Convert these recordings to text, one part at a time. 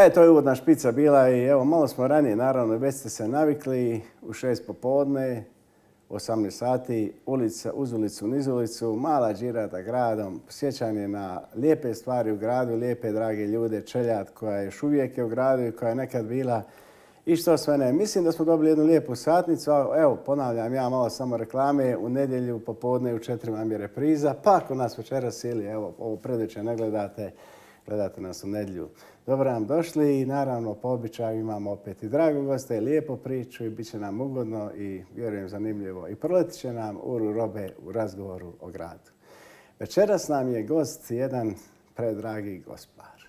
To je uvodna špica bila i evo, malo smo ranije, naravno, već ste se navikli u 6 popodne, 18 sati, ulica uz ulicu, niz ulicu, mala džirata gradom, sjećanje na lijepe stvari u gradu, lijepe, drage ljude, čeljad koja je još uvijek u gradu i koja je nekad bila i što sve ne. Mislim da smo dobili jednu lijepu satnicu, evo, ponavljam ja malo samo reklame, u nedjelju popodne u 4 vam je repriza, pa ako nas večeras ili evo, ovo predveče ne gledate, gledate nas u nedjelju. Dobro nam došli i naravno po običaju imamo opet i drago goste, lijepu priču i bit će nam ugodno i vjerujem zanimljivo. I proletit će nam uru robe u razgovoru o gradu. Večeras nam je gost jedan predragi gospar.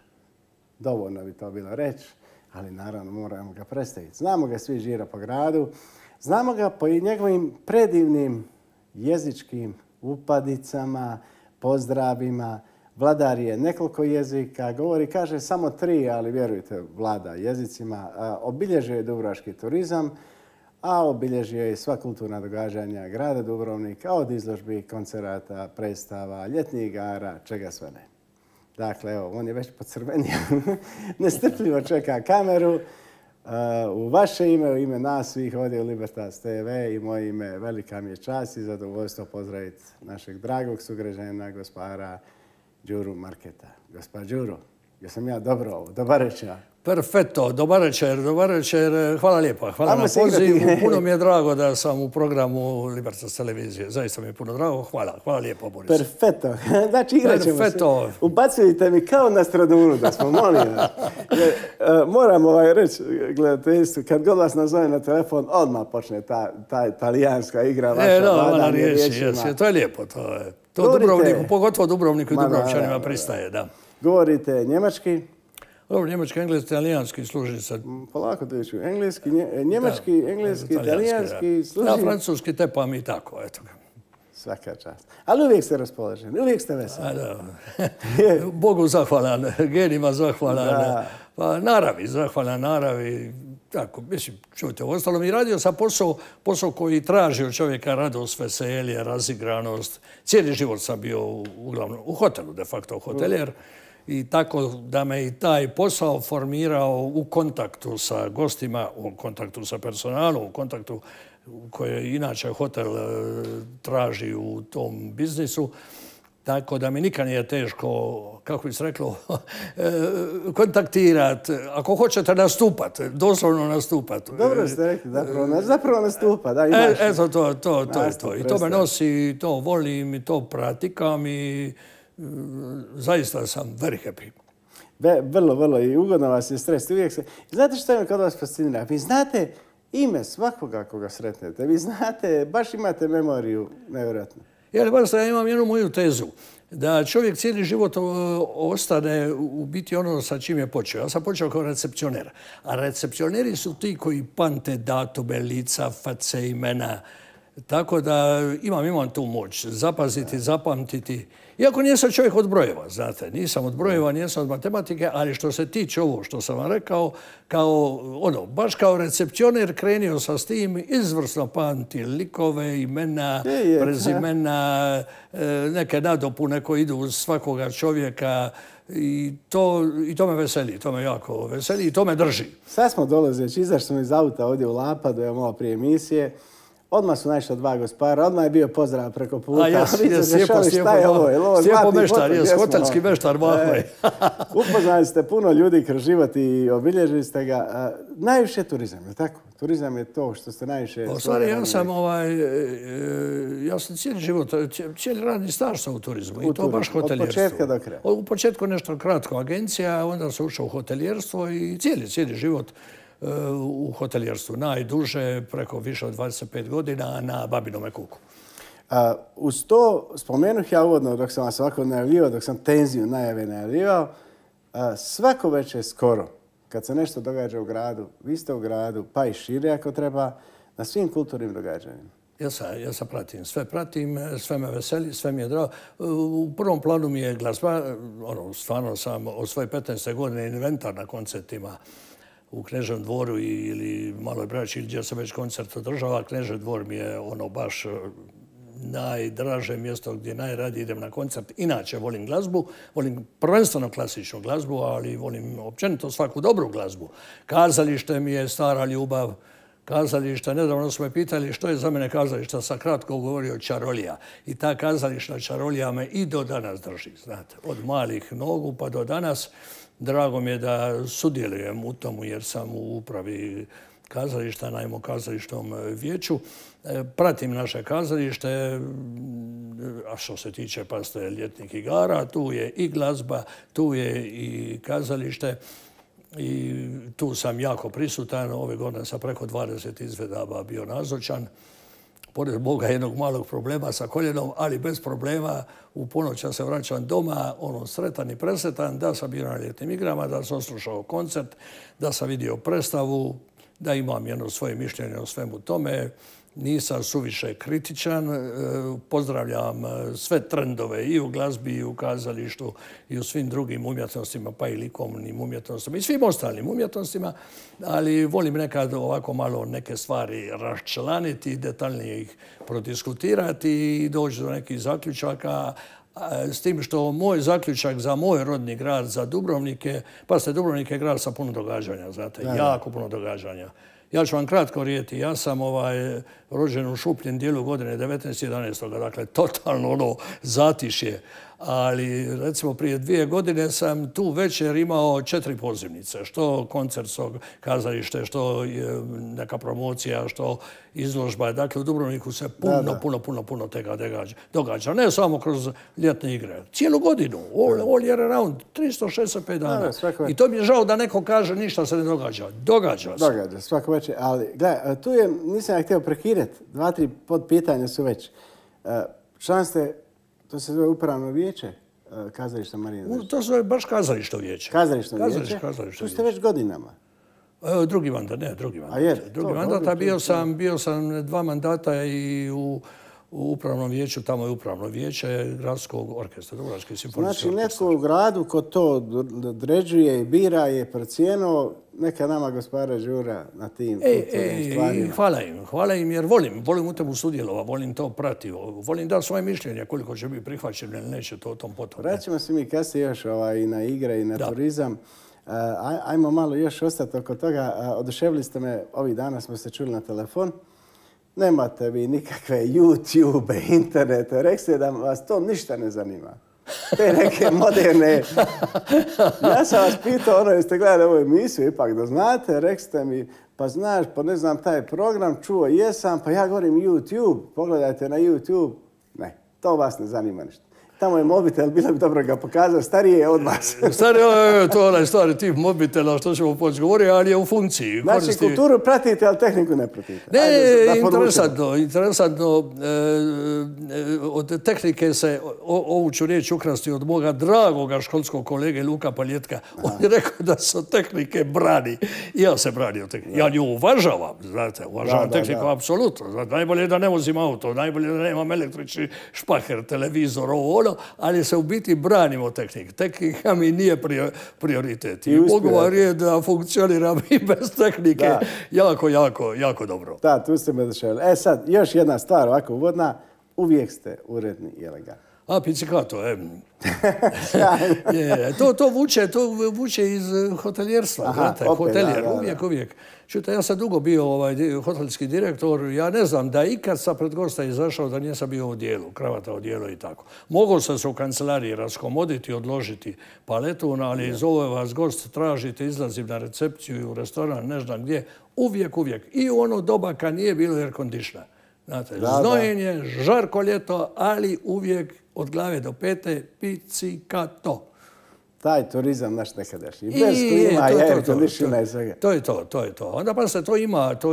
Dovoljno bi to bilo reći, ali naravno moramo ga predstaviti. Znamo ga svi žira po gradu, znamo ga po njegovim predivnim jezičkim upadicama, pozdravima. Vladar je nekoliko jezika, govori, kaže samo 3, ali vjerujte, vlada jezicima. Obilježio je dubrovački turizam, a obilježio je sva kulturna događanja grada Dubrovnika, od izložbi, koncerata, predstava, ljetnih igara, čega sve ne. Dakle, evo, on je već pocrvenio, nestrpljivo čeka kameru. U vaše ime, u ime nas svih ovdje u Libertas TV i moje ime, velika mi je čast i zadovoljstvo pozdraviti našeg dragog sugrađanina, gospara Đuru Marketa. Gospod Đuro, jesam ja dobro ovo? Dobar večer. Perfetto, dobar večer. Hvala lijepa. Hvala na pozivu. Puno mi je drago da sam u programu Libertas televizije. Zaista mi je puno drago. Hvala lijepo, Boris. Perfetto. Znači, igrat ćemo se. Ubacujte mi kao na Stradunu da smo, molim vas. Moram reći, gledateljstvu, kad god vas nazove na telefon, odmah počne ta talijanska igra. Vaša riječi. To je lijepo. To Dubrovniku, pogotovo Dubrovniku i Dubrovčanima pristaje, da. Govorite njemački? Dobro, njemački, engleski, italijanski služi se. Polako dođu. Engleski, njemački, engleski, italijanski služi. Da, francuski tepam i tako, eto ga. Svaka čast. Ali uvijek ste raspoloženi, uvijek ste veseli. Bogu zahvalan, genima zahvalan, pa naravi, zahvalan naravi. Tako, mislim, čujte, uostalom i radio sam posao koji traži od čovjeka radost, veselje, razigranost. Cijeli život sam bio uglavnom u hotelu, de facto hoteljer. I tako da me i taj posao formirao u kontaktu sa gostima, u kontaktu sa personalom, u kontaktu koje inače hotel traži u tom biznisu. Tako da mi nikad nije teško, kako bi se reklo, kontaktirati. Ako hoćete nastupati, doslovno nastupati. Dobro ste rekli, zapravo nastupa. Eto, to je to. I to me nosi, to volim, i to pratikam i zaista sam very happy. Vrlo. I ugodno vas je stres. Znate što me kod vas fascinira? Vi znate ime svakoga koga sretnete. Vi znate, baš imate memoriju nevjerojatno. Ja imam jednu moju tezu, da čovjek cijeli život ostane u biti ono sa čim je počeo. Ja sam počeo kao recepcioner, a recepcioneri su ti koji pamte datume, lica, face, imena. Tako da imam tu moć zapaziti, zapamtiti. Iako nisam čovjek od brojeva, znate, nisam od brojeva, nisam od matematike, ali što se tiče ovo što sam vam rekao, baš kao recepcioner krenio sam s tim, izvrsno pamti likove, imena, prezimena, neke nadopune koje idu uz svakoga čovjeka i to me veseli, to me jako veseli i to me drži. Sad smo dolazeći, izašli smo iz auta ovdje u Lapadu, evo malo prije emisije. Odmah su našla 2 gospara, odmah je bio pozdrav preko puta. Slijepo meštar, hotelski meštar. Upoznali ste puno ljudi kroz život i obilježili ste ga. Najviše turizam, je tako? Turizam je to što ste najviše... U stvari, ja sam cijeli život, cijeli radni staž sam u turizmu i to baš hoteljerstvo. Od početka do kraja? U početku nešto kratko agencija, onda sam ušao u hoteljerstvo i cijeli život u hoteljerstvu. Najduže, preko više od 25 godina na Babinome Kuku. Uz to spomenuh ja uvodno dok sam vas ovako najavljivao, dok sam tenziju najave najavljivao, svako večer skoro, kad se nešto događa u gradu, vi ste u gradu, pa i šire ako treba, na svim kulturnim događanjima. Ja sam pratim, sve me veseli, sve mi je drago. U prvom planu mi je glazba, stvarno sam od svoje 15. godine inventar na koncertima u Kneževom dvoru ili Maloj Braći ili gdje se već koncert održava. Knežev dvor mi je baš najdraže mjesto gdje najradije idem na koncert. Inače volim glazbu, volim prvenstveno klasičnu glazbu, ali volim općenito svaku dobru glazbu. Kazalište mi je stara ljubav. Kazališta, nedavno su me pitali što je za mene kazališta, sam kratko govorio čarolija. I ta kazališna čarolija me i do danas drži, znate. Od malih nogu pa do danas. Drago mi je da sudjelujem u tomu jer sam u upravi kazališta, naime kazališnom vijeću. Pratim naše kazalište, a što se tiče paste ljetnih igara, tu je i glazba, tu je i kazalište. I tu sam jako prisutan. Ove godine sam preko 20 izvedaba bio nazočan. Pored Boga jednog malog problema sa koljenom, ali bez problema. U ponoć ja se vraćam doma, sretan i presretan, da sam bio na ljetnim igrama, da sam slušao koncert, da sam vidio predstavu, da imam jedno svoje mišljenje o svemu tome. Nisam suviše kritičan. Pozdravljam sve trendove i u glazbi, i u kazalištu, i u svim drugim umjetnostima, pa i likovnim umjetnostima, i svim ostalim umjetnostima. Ali volim nekad ovako malo neke stvari raščlaniti, detaljnije ih prodiskutirati i doći do nekih zaključaka. S tim što moj zaključak za moj rodni grad, za Dubrovnik je, pazite, Dubrovnik je grad sa puno događanja, znate, jako puno događanja. Ja ću vam kratko rijeti. Ja sam rođen u šupljem dijelu godine 19.11. Dakle, totalno zatišje. Ali, recimo, prije 2 godine sam tu večer imao 4 pozivnice. Što koncertskog kazalište, što neka promocija, što izložba. Dakle, u Dubrovniku se puno tega događa. Ne samo kroz ljetne igre. Cijelu godinu. All year round. 365 dana. I to mi je žao da neko kaže ništa se ne događa. Događa se. Događa, svako večer. Ali, gledaj, tu je, nisam ja htio prekidati. 2-3 podpitanja su već. Član ste, to se zove upravno vijeće kazališta Marina Držić. To se zove baš kazališto vijeće. Kazališno vijeće? Tu ste već godinama. Drugi mandat, ne, drugi mandat. A je? Drugi mandat, a bio sam 2 mandata i u upravnom vijeću, tamo je upravno vijeće Gradskog orkestra, Dubrovački simfonijski orkestar. Znači, neko u gradu ko to određuje i bira je procijenio, neka nama gospodara Đura na tim stvarima. Hvala im jer volim u temu sudjelovati, volim to pratiti, volim dati svoje mišljenje koliko će biti prihvaćeno ili neće to o tom potom. Vraćamo se mi kasnije još i na igre i na turizam. Ajmo malo još ostati oko toga. Oduševili ste me, ovih dana smo se čuli na telefon. Nemate vi nikakve YouTube, internete. Rekli ste da vas to ništa ne zanima. Te neke moderne... Ja sam vas pitao, jeste gledali ovu emisiju, ipak da znate, rekli ste mi, pa znaš, pa ne znam taj program, čuo jesam, pa ja govorim YouTube, pogledajte na YouTube. Ne, to vas ne zanima ništa. Tamo je mobitel, bilo bi dobro ga pokazati, starije je od vas. To je onaj stari tip mobitela, što ćemo poći govoriti, ali je u funkciji. Znači, kulturu pratite, ali tehniku ne pratite. Ne, interesantno. Od tehnike se, ovu ću riječ ukrasti od moga dragoga školskog kolege Luka Paljetka. On je rekao da se od tehnike brani. I ja se brani od tehnike. Ja nju uvažavam, znate, uvažavam tehniku apsolutno. Najbolje je da ne vozim auto, najbolje je da nemam električni špaher, televizor, ovo, ali se u biti branimo tehnike. Tehnika mi nije prioritet. I mogu vam reći da funkcioniram i bez tehnike jako dobro. Da, tu ste me došli. Sad, još jedna stvar ovako uvodna. Uvijek ste uredni i elegantni. Pizzicato, To vuče iz hoteljerstva. Hotelijer, uvijek. Čujte, ja sam dugo bio hotelski direktor. Ja ne znam da ikad sam pred gosta izašao da nisam bio u dijelu, kravata u dijelu i tako. Mogao sam se u kancelariji raskomoditi, odložiti paletu, ali zove vas gost, tražite, izlazim na recepciju i u restoran, ne znam gdje. Uvijek. I u ono doba kad nije bilo air conditiona. Znate, znojenje, žarko ljeto, ali uvijek od glave do pete Pizzicato. Taj turizam naš nekadašnji. Bez klima, air conditiona i svega. To je to. Onda pa se to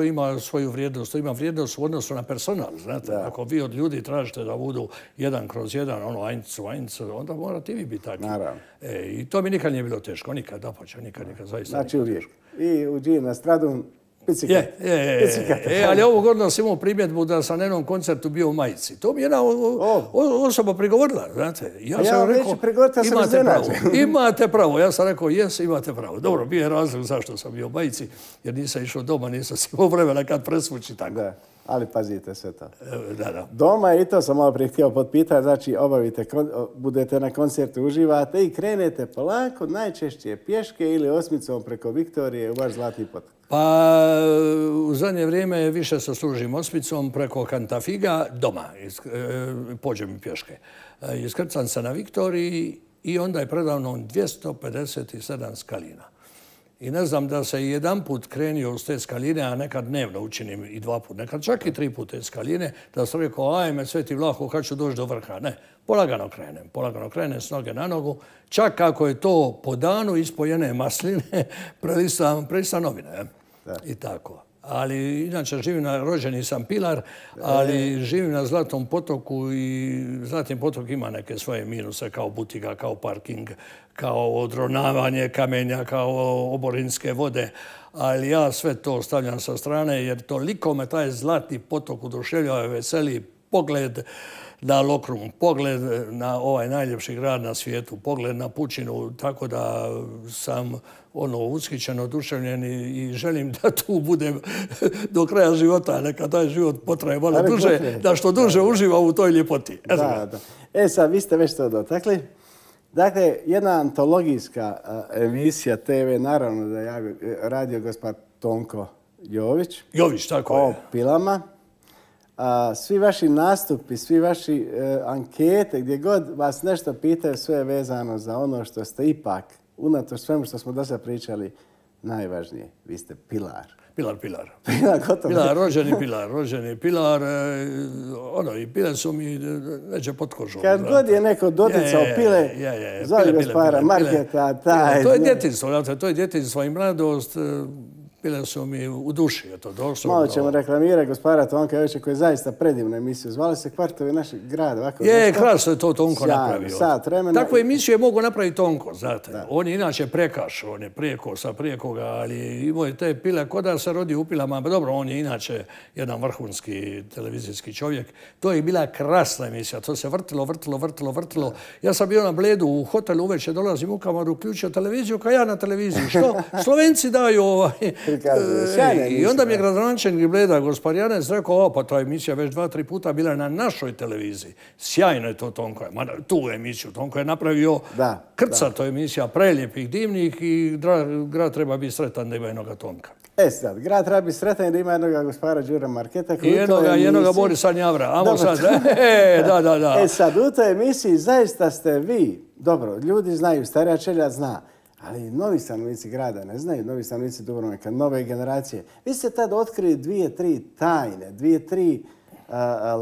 ima svoju vrijednost. To ima vrijednost u odnosu na personal. Znate, ako vi od ljudi tražite da budu 1/1, eins, onda morate i vi biti takvi. Naravno. I to mi nikad nije bilo teško. Nikad, dapače, nikad, zaista. Znači uvijek. I u Gini na Stradun Pizzicato. Ali ovog godina sam imao primjedbu da sam na jednom koncertu bio u majici. To mi jedna osoba prigovorila, znate. Ja neću prigovoriti, ja sam iznenađen. Imate pravo. Ja sam rekao, imate pravo. Dobro, bio je razlog zašto sam bio u majici, jer nisam išao doma, nisam imao vremena kad presvući tako. ali pazite sve to. Da. Doma, i to sam malo prije htio potpitati, znači budete na koncertu, uživate i krenete polako, najčešće pješke ili osmicom preko Viktorije u vaš Zlatni potok. Pa u zadnje vrijeme više se služim osmicom preko Kantafiga doma. Pođem pješke. Iskrcam se na Viktoriji i onda je predavno 257 skalina. I ne znam da se jedan put krenio s te skaline, a nekad dnevno učinim i 2 put, nekad čak i 3 put te skaline, da sam rekao, ajme, Sveti Vlaho, kad ću doći do vrha. Ne, polagano krenem s noge na nogu. Čak ako je to po danu ispojene masline, prelistam novine. I tako. Ali inače rođeni sam Pilar, ali živim na Zlatnom potoku i Zlatni potok ima neke svoje minuse kao butika, kao parking, kao odronavanje kamenja, kao oborinske vode. Ali ja sve to stavljam sa strane jer toliko me taj Zlatni potok oduševljava, veseli pogled na Lokrum, pogled na ovaj najljepši grad na svijetu, pogled na pučinu, tako da sam ushićen, oduševljen i želim da tu budem do kraja života, neka taj život potraje malo duže, da što duže uživa u toj ljepoti. Da. Sad, vi ste već to dotakli. Dakle, jedna antologijska emisija TV, naravno da je radio gospod Tonko Jović. Jović, tako je. O pilama. Svi vaši nastupi, svi vaši ankete, gdje god vas nešto pitaju, sve je vezano za ono što ste ipak, unatoč svemu što smo do sada pričali, najvažnije. Vi ste pilar. Pilar. Gotovo. Rođeni Pilar. I pile su mi neće pod kožom. Kad god je neko doticao pile, zove gospodara Marketa, taj... To je djetinjstvo i mladost. Bile su mi u duši, to doslovno. Malo ćemo reklamirati gospodara Tonka Jovića koji je zaista predivnu emisiju. Zvali se Kvartovi našeg grada. Krasno je to Tonko napravio. Sat vremena. Takvu emisiju je mogu napraviti Tonko, znate. On je inače prekaš, on je prijeko sa prijekoga, ali imao je te pile, ko da se rodi u pilama. Dobro, on je inače jedan vrhunski televizijski čovjek. To je bila krasna emisija. To se vrtilo. Ja sam bio na Bledu u hotelu, uveče dolazim u kamaru, uključio televiziju, kao ja na televiziji. Što? Slovenci daju I onda mi je gradonačelnik Bleda, gospod Janez, rekao, pa ta emisija već 2-3 puta bila na našoj televiziji. Sjajno je to Tonko. Tu emisiju Tonko je napravio krcato emisija, prelijepih, divnih i grad treba biti sretan da ima jednoga Tonka. Sad, grad treba biti sretan da ima jednoga gospodara Đura Marketa. I jednoga Borisa Njavra. Da. Sad, u toj emisiji zaista ste vi, dobro, ljudi znaju, starija čelja zna, ali novi stanovnici grada ne znaju, novi stanovnici Dubrovnika, nove generacije. Vi ste tad otkrili 2-3 tajne, 2-3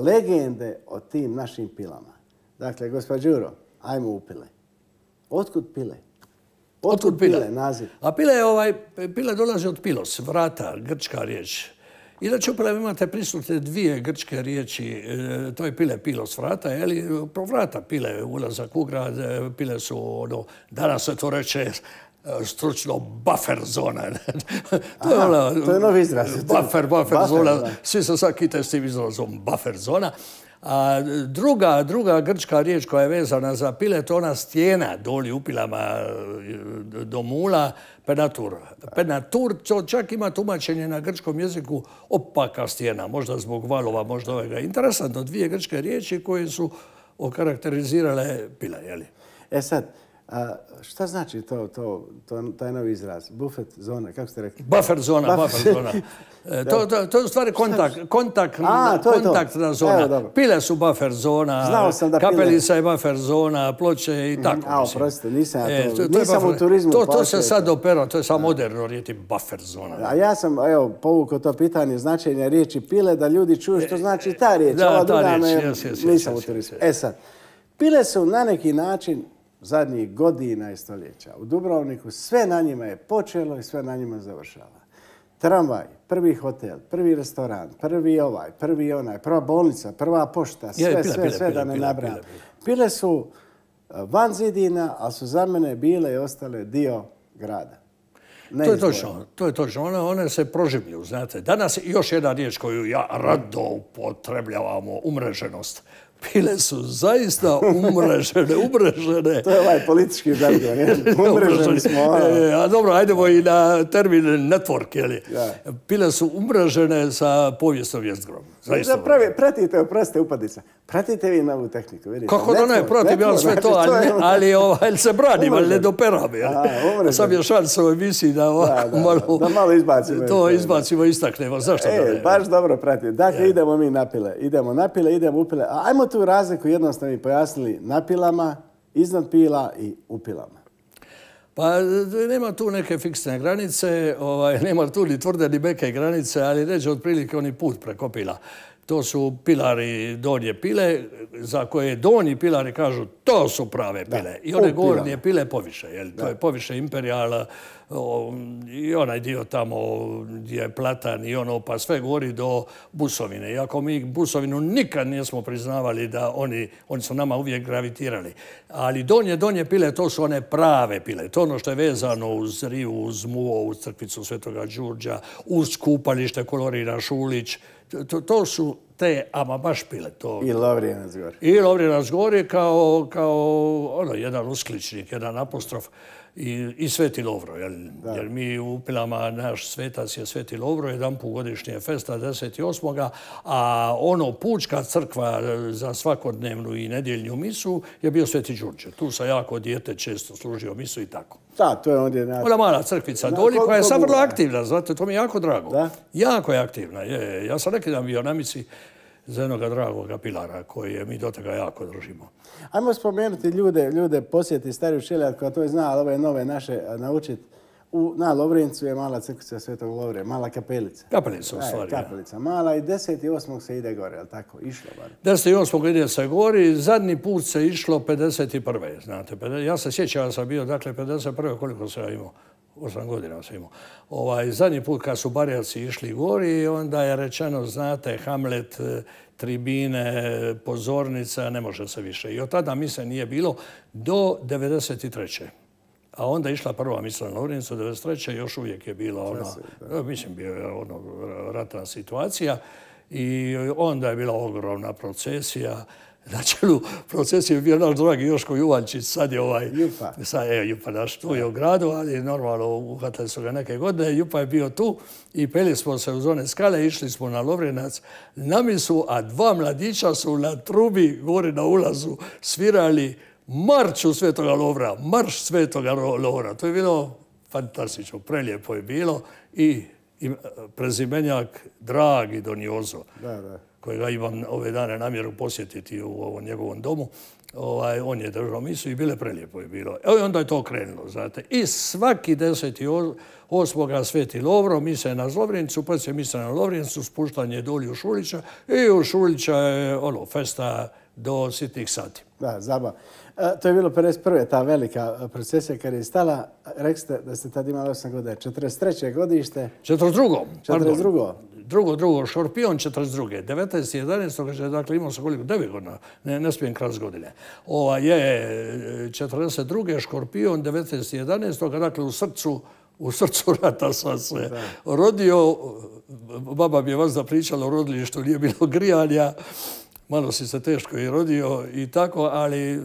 legende o tim našim pilama. Dakle, gospod Đuro, ajmo u pile. Otkud pile? Otkud pile, naziv? A pile dolazi od pilos, vrata, grčka riječ. Inače, upravo imate prisutne 2 grčke riječi, to je pile, pilos, vrata, pro vrata pile, ulazak u grad, pile su, danas se to reče stručno buffer zona. To je novi izraz. Buffer zona, svi se sad kite s tim izrazom buffer zona. A druga grčka riječ koja je vezana za pile, to je ona stijena doli u pilama do mula, penatur. Penatur, to čak ima tumačenje na grčkom jeziku opaka stijena, možda zbog valova, možda ovega. Interesantno, 2 grčke riječi koje su okarakterizirale pile, jeli? Sad, šta znači taj novi izraz? Buffet zona, kako ste rekli? Buffer zona. To je u stvari kontaktna zona. Pile su buffer zona, Kapelica je buffer zona, Ploče i tako. Oprostite, nisam u turizmu. To se sad opera, to je samo moderno riječi buffer zona. A ja sam, povukao to pitanje značenja riječi pile, da ljudi čuju što znači ta riječ. Da, ta riječ, nisam u turizmu. Sad, pile su na neki način zadnjih godina i stoljeća. U Dubrovniku sve na njima je počelo i sve na njima završava. Tramvaj, prvi hotel, prvi restoran, prvi onaj, prva bolnica, prva pošta, sve da ne nabrajam. Pile su van zidina, ali su za mene bile i ostale dio grada. To je točno. One se proživljuju, znate. Danas još jedna riječ koju ja rado upotrebljavamo, umreženost. Pile su zaista umrežene. To je ovaj politički zargon. Umreženi smo. A dobro, ajdemo i na termin network, jeli? Pile su umrežene sa povijesnom jezgrom. Pratite, oprostite, upadica. Pratite vi novu tehniku, vidite. Kako da ne, pratim ja sve to, ali se branim, ali ne doperam. Sad je šans u emisiji da malo izbacimo. To izbacimo i istaknemo. Zašto da ne? Baš dobro pratite. Dakle, idemo mi na pile. Idemo na pile, idemo u pile. Ajmo tu razliku jednostavno mi pojasnili na pilama, iznad pila i u pilama. Pa nema tu neke fiksne granice, nema tu ni tvrde ni meke granice, ali ređe otprilike oni put preko pila. To su pilari donje pile, za koje donji pilari kažu to su prave pile. I one gornje pile poviše. To je poviše Imperial i onaj dio tamo gdje je Platan i ono, pa sve gori do Busovine. Iako mi Busovinu nikad nismo priznavali da oni su nama uvijek gravitirali. Ali donje pile, to su one prave pile. To ono što je vezano uz rivu, uz muo, uz crkvicu Svetoga Đurđa, uz kupalište Kolorina Šulić. To su te, ama baš pile. I Lovrinac gori. I Lovrinac gori kao jedan uskličnik, jedan apostrof i Sveti Lovro. Jer mi u pilama, naš svetac je Sveti Lovro, jedan put godišnje festa 10.8. A pučka crkva za svakodnevnu i nedjeljnju misu je bio Sveti Đurđe. Tu sam jako dijete često služio misu i tako. Da, to je ondje... Ona mala crkvica doli koja je sad vrlo aktivna, znate, to mi je jako drago. Da? Jako je aktivna. Ja sam neki dan bio na misi za jednoga dragoga pilara koje mi do toga jako držimo. Ajmo spomenuti ljude posjeti Stariju Šelijat koja to zna, ali ove nove naše naučiti. Na Lovrincu je mala crkvica Svetog Lovre, mala kapelica. Kapelica u stvari. Kapelica mala i 10.8. se ide gore, je li tako? Išlo bar. 10.8. ide se gori, zadnji put se išlo 51. Znate, ja se sjećam, ja sam bio, dakle, 51. koliko sam ja imao? 8 godina sam imao. Zadnji put kad su Barjaci išli gori, onda je rečeno, znate, Hamlet, tribine, pozornica, ne može se više. I od tada mise nije bilo do 93. A onda je išla prva misa na Lovrincu, 93. još uvijek je bila ratna situacija. I onda je bila ogromna procesija. Na čelu procesije je bio naš dragi Joško Juvaljčić, sad je Jupa naš tu je u gradu, ali normalno uhvatili su ga neke godine. Jupa je bio tu i peli smo se uz one skale, išli smo na Lovrinac na misu, a dva mladića su na trubi gore na ulazu svirali marču Svetoga Lovra, marš Svetoga Lovra. To je bilo fantastično, prelijepo je bilo i prezimenjak dragi Doniozo. Kojega imam ove dane namjeru posjetiti u ovom njegovom domu. On je držao misu i bile prelijepo je bilo. I onda je to krenulo, znate. I svaki 10.8. Sveti Lovro, mise na Lovrincu, poslije mise na Lovrincu, spuštanje dolje u Šulića i u Šulića je festa do sitnih sati. Da, zabava. To je bilo 51. ta velika procesija kad je stala. Rekli ste da ste tad imali 8 godina. 43. godište. 42. Drugo, Škorpion 42. 19.11. Dakle, imao sam koliko? 9 godina. Ne smijem kras godine. Je 42. Škorpion 19.11. Dakle, u srcu rata sam se rodio. Baba mi je vas pričala o rodilištu, nije bilo grijanja. Malo si se teško i rodio i tako, ali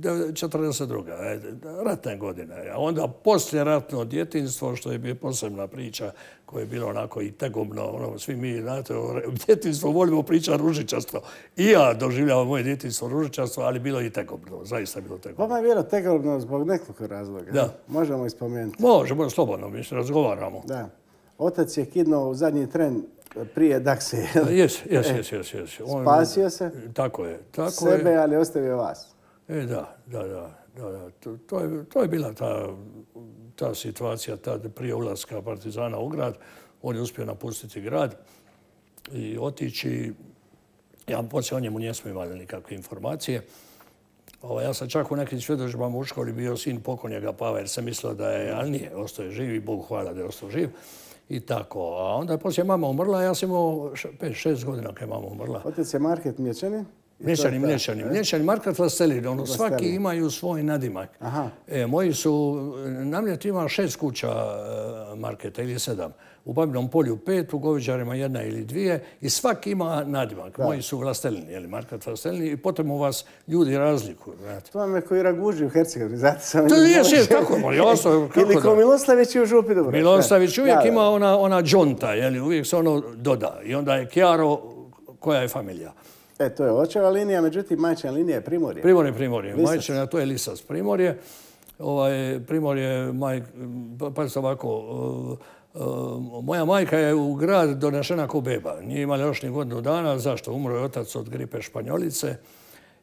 42. ratne godine. A onda posljeratno djetinjstvo, što je bio posebna priča, koja je bilo onako i tegobno. Svi mi, znate, o djetinjstvu volimo pričati ružičasto. I ja doživljavam moje djetinjstvo ružičasto, ali bilo i tegobno. Zaista bilo tegobno. Vama je bilo tegobno zbog nekoliko razloga. Da. Možemo ispomenuti. Možemo, slobodno, mi se razgovaramo. Da. Otac je kidnuo u zadnji tren prije Daksije. Jes. Spasio se. Tako je. Sebe, ali ostavio vas. Da. To je bila ta situacija tad prije ulaska partizana u grad. On je uspio napustiti grad i otići. Ja poslije o njemu nismo imali nikakve informacije. Ja sam čak u nekim svjedodžbama u školi bio sin pokojnjega Pava jer sam mislio da je, ali nije, ostao je živ i Bogu hvala da je ostao živ. I tako. A onda je poslije mama umrla, ja sam imao 5-6 godina kad je mama umrla. Otec je Market Mlječanin? Mlječani, Market Lastelin. Svaki imaju svoj nadimak. Moji su, na Mljet ima 6 kuća Marketa ili 7. u Babinom polju 5, u Goviđarima 1 ili 2 i svaki ima nadimak. Moji su Vlastelini, Markat Vlastelini i potom u vas ljudi razlikuju. To vam je koji Raguži u Hercegovini, zato sam... To je, tako, jasno. Ili ko Miloslavić u Župi Dubrovci. Miloslavić uvijek ima ona džonta, uvijek se ono doda. I onda je Kjaro, koja je familija. To je očeva linija, međutim majčina linija je Primorje. Primorje. Majčina, to je Lisac Primorje. Primorje, pazite ovako, moja majka je u grad donešena ko beba. Nije imala još ni godinu dana. Zašto? Umro je otac od gripe španjolice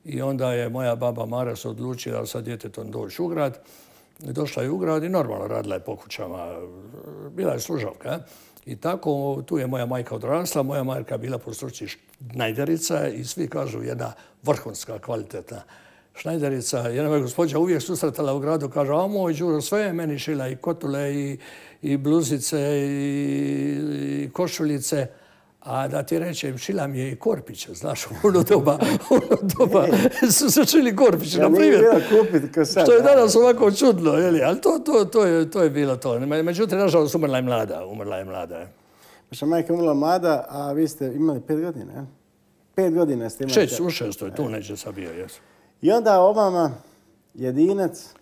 i onda je moja baba Mara se odlučila sa djetetom doći u grad. Došla je u grad i normalno radila je po kućama. Bila je služavka. I tako, tu je moja majka odrasla. Moja majka bila po struci šnajderica i svi kažu jedna vrhunska, kvalitetna šnajderica. Jedna me gospođa uvijek susretala u gradu, kaže, a moj Đuro, sve je meni šila, i kotule, i bluzice, i košuljice. A da ti rečem, šila mi je i korpiće, znaš, u ono doba su se šili korpiće, na primjer. Što je danas ovako čudno, ali to je bilo to. Međutim, nažalost, umrla je mlada. Vaša majka umrla mlada, a vi ste imali 5 godina, je? 5 godina ste imali. U 6. tu neđe sam bio, jesu. I onda Obama, jedinac...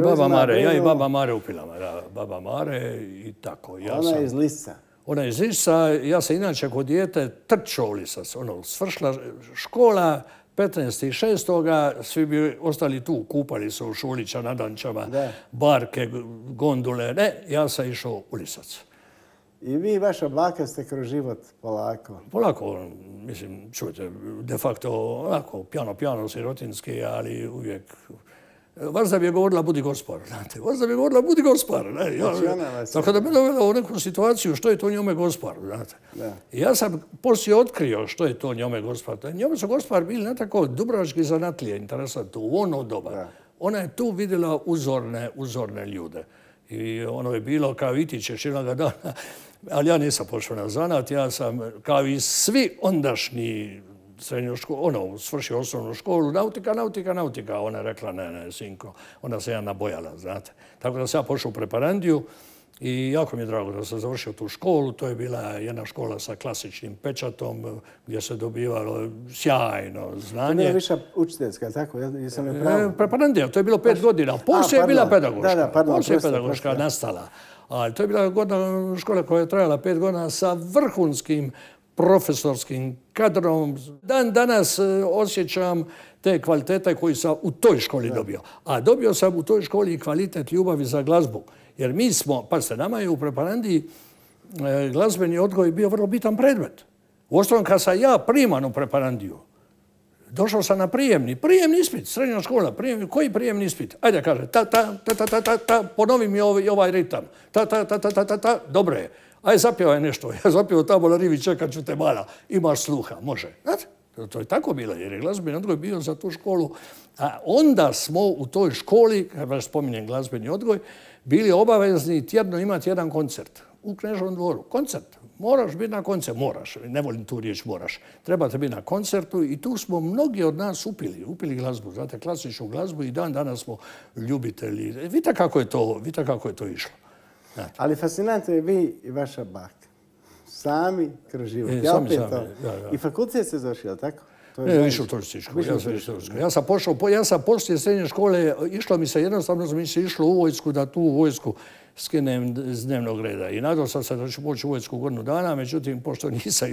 Baba Mare, ja i Baba Mare u Pilama, da, Baba Mare i tako. Ona je iz Lisca. Ona je iz Lisca, ja sam inače kod dijete trčao u Lisac, svršila škola 15.6. Svi bi ostali tu, kupali se u Šulića, Nadančama, barke, gondule, ne, ja sam išao u Lisac. I vi i vaša baka ste kroz život polako? Polako, mislim, čujte, de facto, onako, pjano, sirotinski, ali uvijek... Vazda bi je govorila budi gospar, znate. Vazda bi je govorila budi gospar. Tako da me dovela u neku situaciju što je to njome gospar, znate. I ja sam poslije otkrio što je to njome gospar. Njome su gospar bili na tako dubrovački zanatlije, interesantno, u ono doba. Ona je tu vidjela uzorne ljude. I ono je bilo kao Itićeš jednoga dana, ali ja nisam pošao na zanat, ja sam kao i svi ondašnji srednju školu, svršio osnovnu školu, nautika. Ona je rekla, ne, sinko, ona se ja nabojala, znate. Tako da sam ja pošao u preparandiju i jako mi je drago da sam završio tu školu. To je bila jedna škola sa klasičnim pečatom gdje se dobivalo sjajno znanje. To je više učiteljska, tako? Preparandija, to je bilo 5 godina. Poslije je bila pedagoška. Poslije je pedagoška nastala. Ali to je bila godina škola koja je trajala 5 godina sa vrhunskim profesorskim kadrom. Dan danas osjećam te kvalitete koje sam u toj školi dobio. A dobio sam u toj školi i kvalitet ljubavi za glazbu. Jer mi smo, pazite, nama je u preparandiji glazbeni odgoj bio vrlo bitan predmet. Uostalom, kad sam ja priman u preparandiju, došao sam na prijemni ispit, srednja škola, koji prijemni ispit? Ajde, kaže, ponovi mi ovaj ritam. Dobro je. Aj, zapjevaj nešto. Ja zapjevao tamo na rivi, čekat ću te mala. Imaš sluha, može. Znate, to je tako bilo, jer je glazbeni odgoj bio za tu školu. A onda smo u toj školi, kad vas spominjem glazbeni odgoj, bili obavezni tjedno imati jedan koncert u Kneževom dvoru. Koncert. Moraš biti na koncertu. Moraš. Ne volim tu riječ moraš. Trebate biti na koncertu i tu smo mnogi od nas upili glazbu. Znate, klasičnu glazbu i dan danas smo ljubitelji. Vidite kako je to išlo. Ali fascinantno je vi i vaša baka. Sami kroz život. I fakultet ste završili, tako? Ne, išao u turističku. Ja sam poslije srednje škole, išlo mi se jednostavno, mi se išlo u vojsku, da tu vojsku skinem iz dnevnog reda. I nadao sam se da ću poći u vojsku godinu dana, međutim, pošto nisam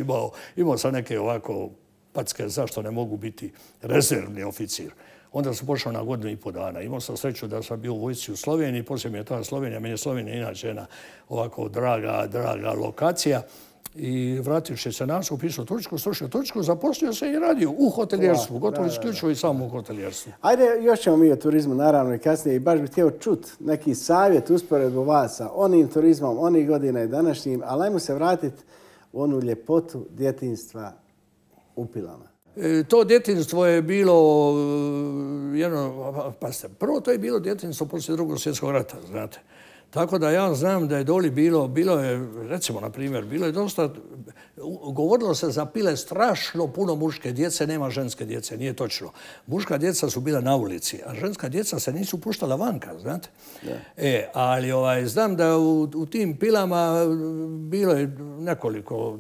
imao sam neke ovako packe zašto ne mogu biti rezervni oficir. Onda sam pošao na 1,5 dana. Imao sam sreću da sam bio u vojsci u Sloveniji, poslije mi je ta Slovenija, meni je Slovenija inače jedna ovako draga lokacija. I vrativši se nas, upisao Turčku, slušao Turčku, zaposlio se i radio u hotelijerstvu, gotovo isključivo i samo u hotelijerstvu. Ajde, još ćemo mi o turizmu naravno i kasnije i baš bih htio čuti neki savjet usporedbu vas sa onim turizmom, onih godina i današnjim, ali ajmo se vratiti u onu ljepotu djetinjstva u Pilama. To djetinjstvo je bilo prvo to je bilo djetinjstvo poslije Drugog svjetskog rata, znate. Tako da ja znam da je doli bilo je, recimo, na primjer, bilo je dosta, govorilo se za pile strašno puno muške djece, nema ženske djece, nije točno. Muška djeca su bila na ulici, a ženska djeca se nisu puštala vanka, znate. Ali znam da u tim pilama bilo je nekoliko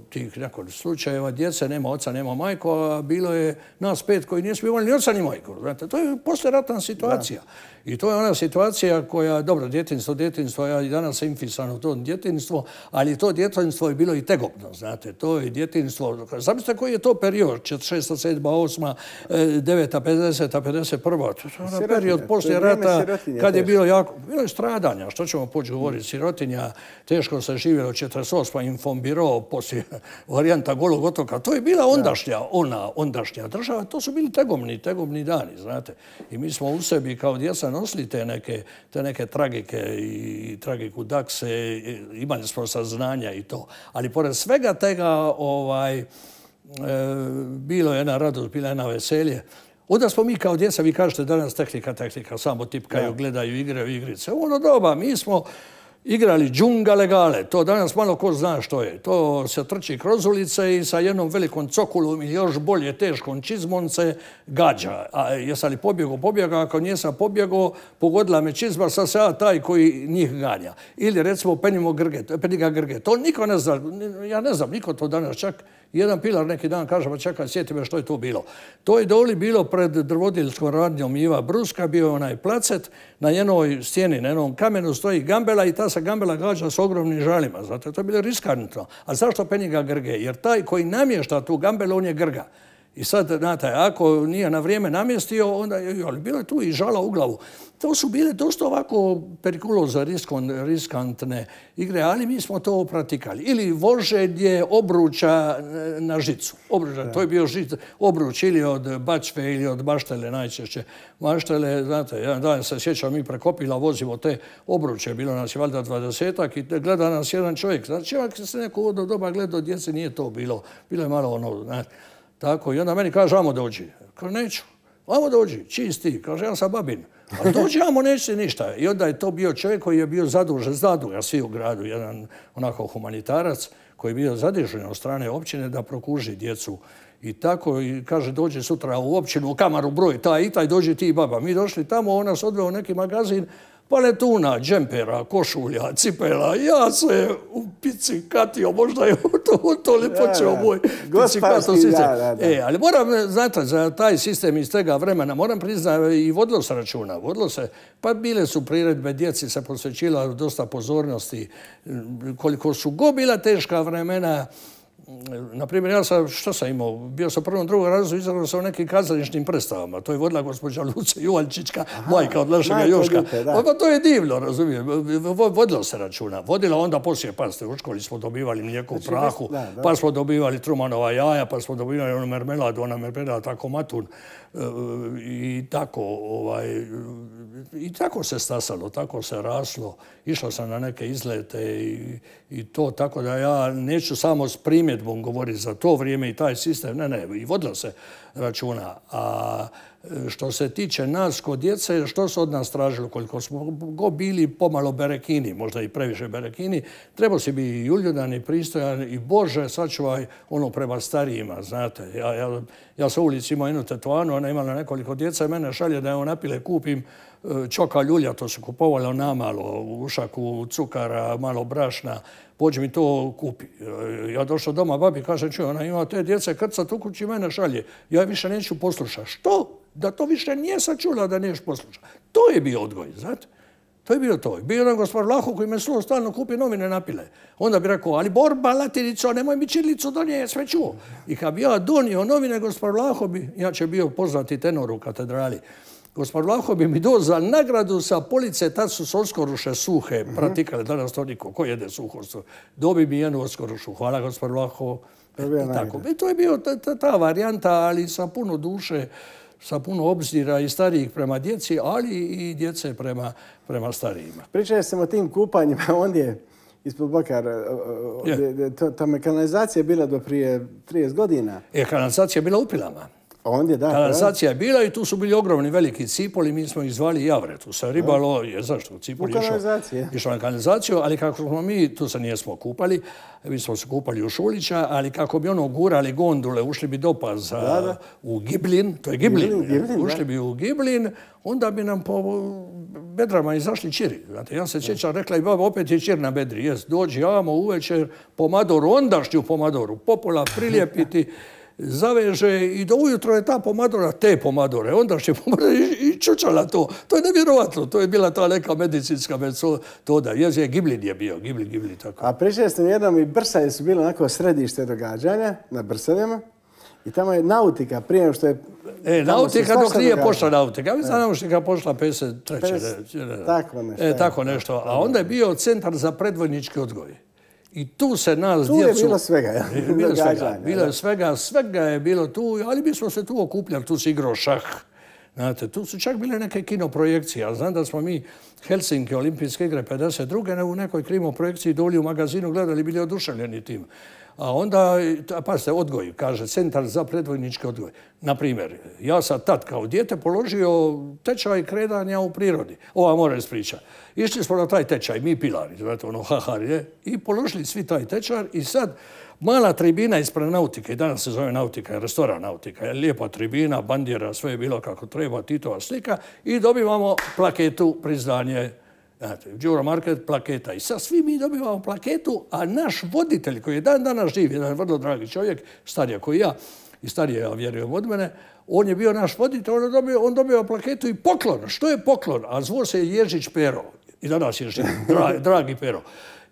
slučajeva, djece nema oca, nema majko, a bilo je nas 5 koji nismo imali ni oca ni majku. Znate, to je poslijeratna situacija. I to je ona situacija koja, dobro, djetinjstvo, ja i danas sam infisan u to djetinjstvo, ali to djetinjstvo je bilo i tegobno, znate. To je djetinjstvo, zamislite koji je to period, 46, 7, 8, 9, 50, 51. To je period poslije rata kad je bilo je stradanja. Što ćemo poći govoriti? Sirotinja, teško se živjelo 48. Informbiro, poslije varijanta Golog otoka. To je bila ondašnja država. To su bili tegobni dani, znate. I mi smo u sebi kao djeca nosili te neke tragike i tragiku Dakse, imali smo saznanja i to. Ali pored svega tega bilo je jedna radost, bila je jedna veselje. Onda smo mi kao djeca, vi kažete danas tehnika, samo tipkaju, gledaju igrice. U ono doba mi smo igrali džunga legale. To danas malo ko zna što je. To se trči kroz ulice i sa jednom velikom cokulom ili još bolje teškom čizmom se gađa. A jesam li pobjegao, ako nisam pobjegao, pogodila me čizma, sad se ja taj koji njih ganja. Ili recimo Peniga Grge. To niko ne zna, ja ne znam, niko to danas čak. Jedan pilar neki dan kaže, pa čekaj, sjeti me što je to bilo. To je doli bilo pred drvodilskom radnjom Iva Bruska, bio je onaj placet, na jednoj stijeni, na jednom kamenu stoji gambela i ta se gambela gađa s ogromnim žalima. Zato to je bilo riskantno. A zašto Peniga Grge? Jer taj koji namješta tu gambelu, on je Grga. I sad, znate, ako nije na vrijeme namjestio, onda ali bilo je tu i žala u glavu. To su bile dosta ovako perikuloza, riskantne igre, ali mi smo to pratikali. Ili voženje obruča na žicu. To je bio obruč ili od bačve ili od maštele najčešće. Maštele, znate, jedan dan se sjećam, mi prekopila vozimo te obruče, bilo nas je valjda 20-ak i gleda nas jedan čovjek. Znači, ako se neko od doba gledao djece, nije to bilo. Bilo je malo ono, znate. Tako, i onda meni kaže, amo dođi. Kaže, neću. Amo dođi, čist ti. Kaže, ja sam babin. A dođi, amo, neće ništa. I onda je to bio čovjek koji je bio zadužen, zaduga svi u gradu, jedan onako humanitarac, koji je bio zadužen od strane općine da prokuži djecu. I tako, i kaže, dođi sutra u općinu, u kamaru broj, taj i taj, dođi ti i baba. Mi došli tamo, on nas odveo u neki magazin, paletuna, džempera, košulja, cipela. Ja se u pici katio, možda je to li počeo moj picikato sistem. Ali moram, znate, za taj sistem iz tega vremena, moram priznati, i vodilo se računa. Vodilo se, pa bile su priredbe, djeci se posvećila dosta pozornosti. Koliko su bila teška vremena, naprimjer, ja sam, što sam imao, bio sam prvom, drugom razredu, izagrao sam u nekim kazališnim predstavama. To je vodila gospođa Luce Juvaljčićka, majka od našega Joška. To je divno, razumijem. Vodilo se računa. Vodila onda poslije, pazite, u školi smo dobivali mlijeko u prahu, pa smo dobivali Trumanova jaja, pa smo dobivali onu mermeladu, tako matun. I tako se stasalo, tako se raslo. Išao sam na neke izlete i to, tako da ja neću samo s primjedbom govoriti za to vrijeme i taj sistem. Ne, i vodilo se računa. A što se tiče nas kod djece, što su od nas tražili, koliko smo bili pomalo berekini, možda i previše berekini, trebao si biti i uljudan i pristojan i Bože, sačuvaj ono prema starijima, znate. Ja sa ulici imao jednu tetovanu, ona imala nekoliko djeca i mene šalje da je napile kupim čoka ljulja, to su kupovali namalo, ušaku cukara, malo brašna, pođi mi to kupi. Ja došao doma, babi kaže, čuj, ona ima te djece krcat u kući, mene šalje. Ja više neću poslušati. Što? Da to više nije sačula da neš poslušati. To je bio odgoj, znate. To je bio to. Bio jedan gospodar Vlaho koji me stalno kupi novine napile. Onda bi rekao, ali Borba, Latinico, nemoj mi čirilicu donije, sve čuo. I kad bi ja donio novine, gospodar Vlaho bi, ja će bio poznati tenor u katedrali, gospodar Vlaho bi mi dao za nagradu sa police, tad su se oskoruše suhe pratikale, danas to niko, ko jede suho? Dobi mi jednu oskorušu. Hvala, gospodar Vlaho. I to je bio ta varijanta, ali sa puno duše, sa puno obzira i starijih prema djeci, ali i djece prema starijima. Pričali sam o tim kupanjima ondje ispod Bakara. Ta kanalizacija je bila do prije 30 godina. Kanalizacija je bila u Pilama. Ondje, da. Kanalizacija je bila i tu su bili ogromni veliki cipoli, mi smo ih zvali javre. Tu se ribalo, zašto? Cipol je išao na kanalizaciju, ali kako smo mi, tu se nijesmo kupali, mi smo se kupali u Šulića, ali kako bi gurali gondule, ušli bi do paza u Giblin, to je Giblin, ušli bi u Giblin, onda bi nam po bedrama izašli čiri. Znate, ja se sjećam, rekla i baba, opet je čir na bedri. Jes, dođi jamo uvečer, pomadoru, ondašnju pomadoru, popola prilijepiti, zaveže i do ujutro je ta pomadora, te pomadore, ondašnje pomadore i čučala to. To je nevjerovatno, to je bila ta neka medicinska metoda. Jes je Giblin je bio, Giblin, tako. A pričali ste mi jednom i Brsaje su bile onako središte događanja na Brsanima. I tamo je nautika, prije što je... Nautika dok nije pošla nautika. Ja mislim nautika pošla 53. Tako nešto. Tako nešto. A onda je bio centar za predvojnički odgoj. I tu se nas djecu... Tu je bilo svega. Bilo je svega je bilo tu, ali mi smo se tu okupljali, tu se igrao šah. Znate, tu su čak bile neke kinoprojekcije. Ja znam da smo mi Helsinki, olimpijske igre 52. u nekoj krimoprojekciji doli u magazinu gledali, bili oduševljeni tim. A onda, pazite, odgoj, kaže, centar za predvojnički odgoj. Naprimjer, ja sam tad kao dijete položio tečaj kretanja u prirodi. Ova mora ispriča. Išli smo na taj tečaj, mi pilari, znate, hahari, i položili svi taj tečaj i sad mala tribina ispred nautike, danas se zove nautika, restoran nautika, lijepa tribina, bandjera, sve je bilo kako treba, Titova slika i dobivamo plaketu priznanje. Đuro Market, plaketa. I sad svi mi dobivamo plaketu, a naš voditelj koji je dan danas živ, jedan vrlo dragi čovjek, stariji koji ja i stariji, ja vjerujem od mene, on je bio naš voditelj, on dobio plaketu i poklon. Što je poklon? A zvo se Ježić Pero. I danas je živ, dragi Pero.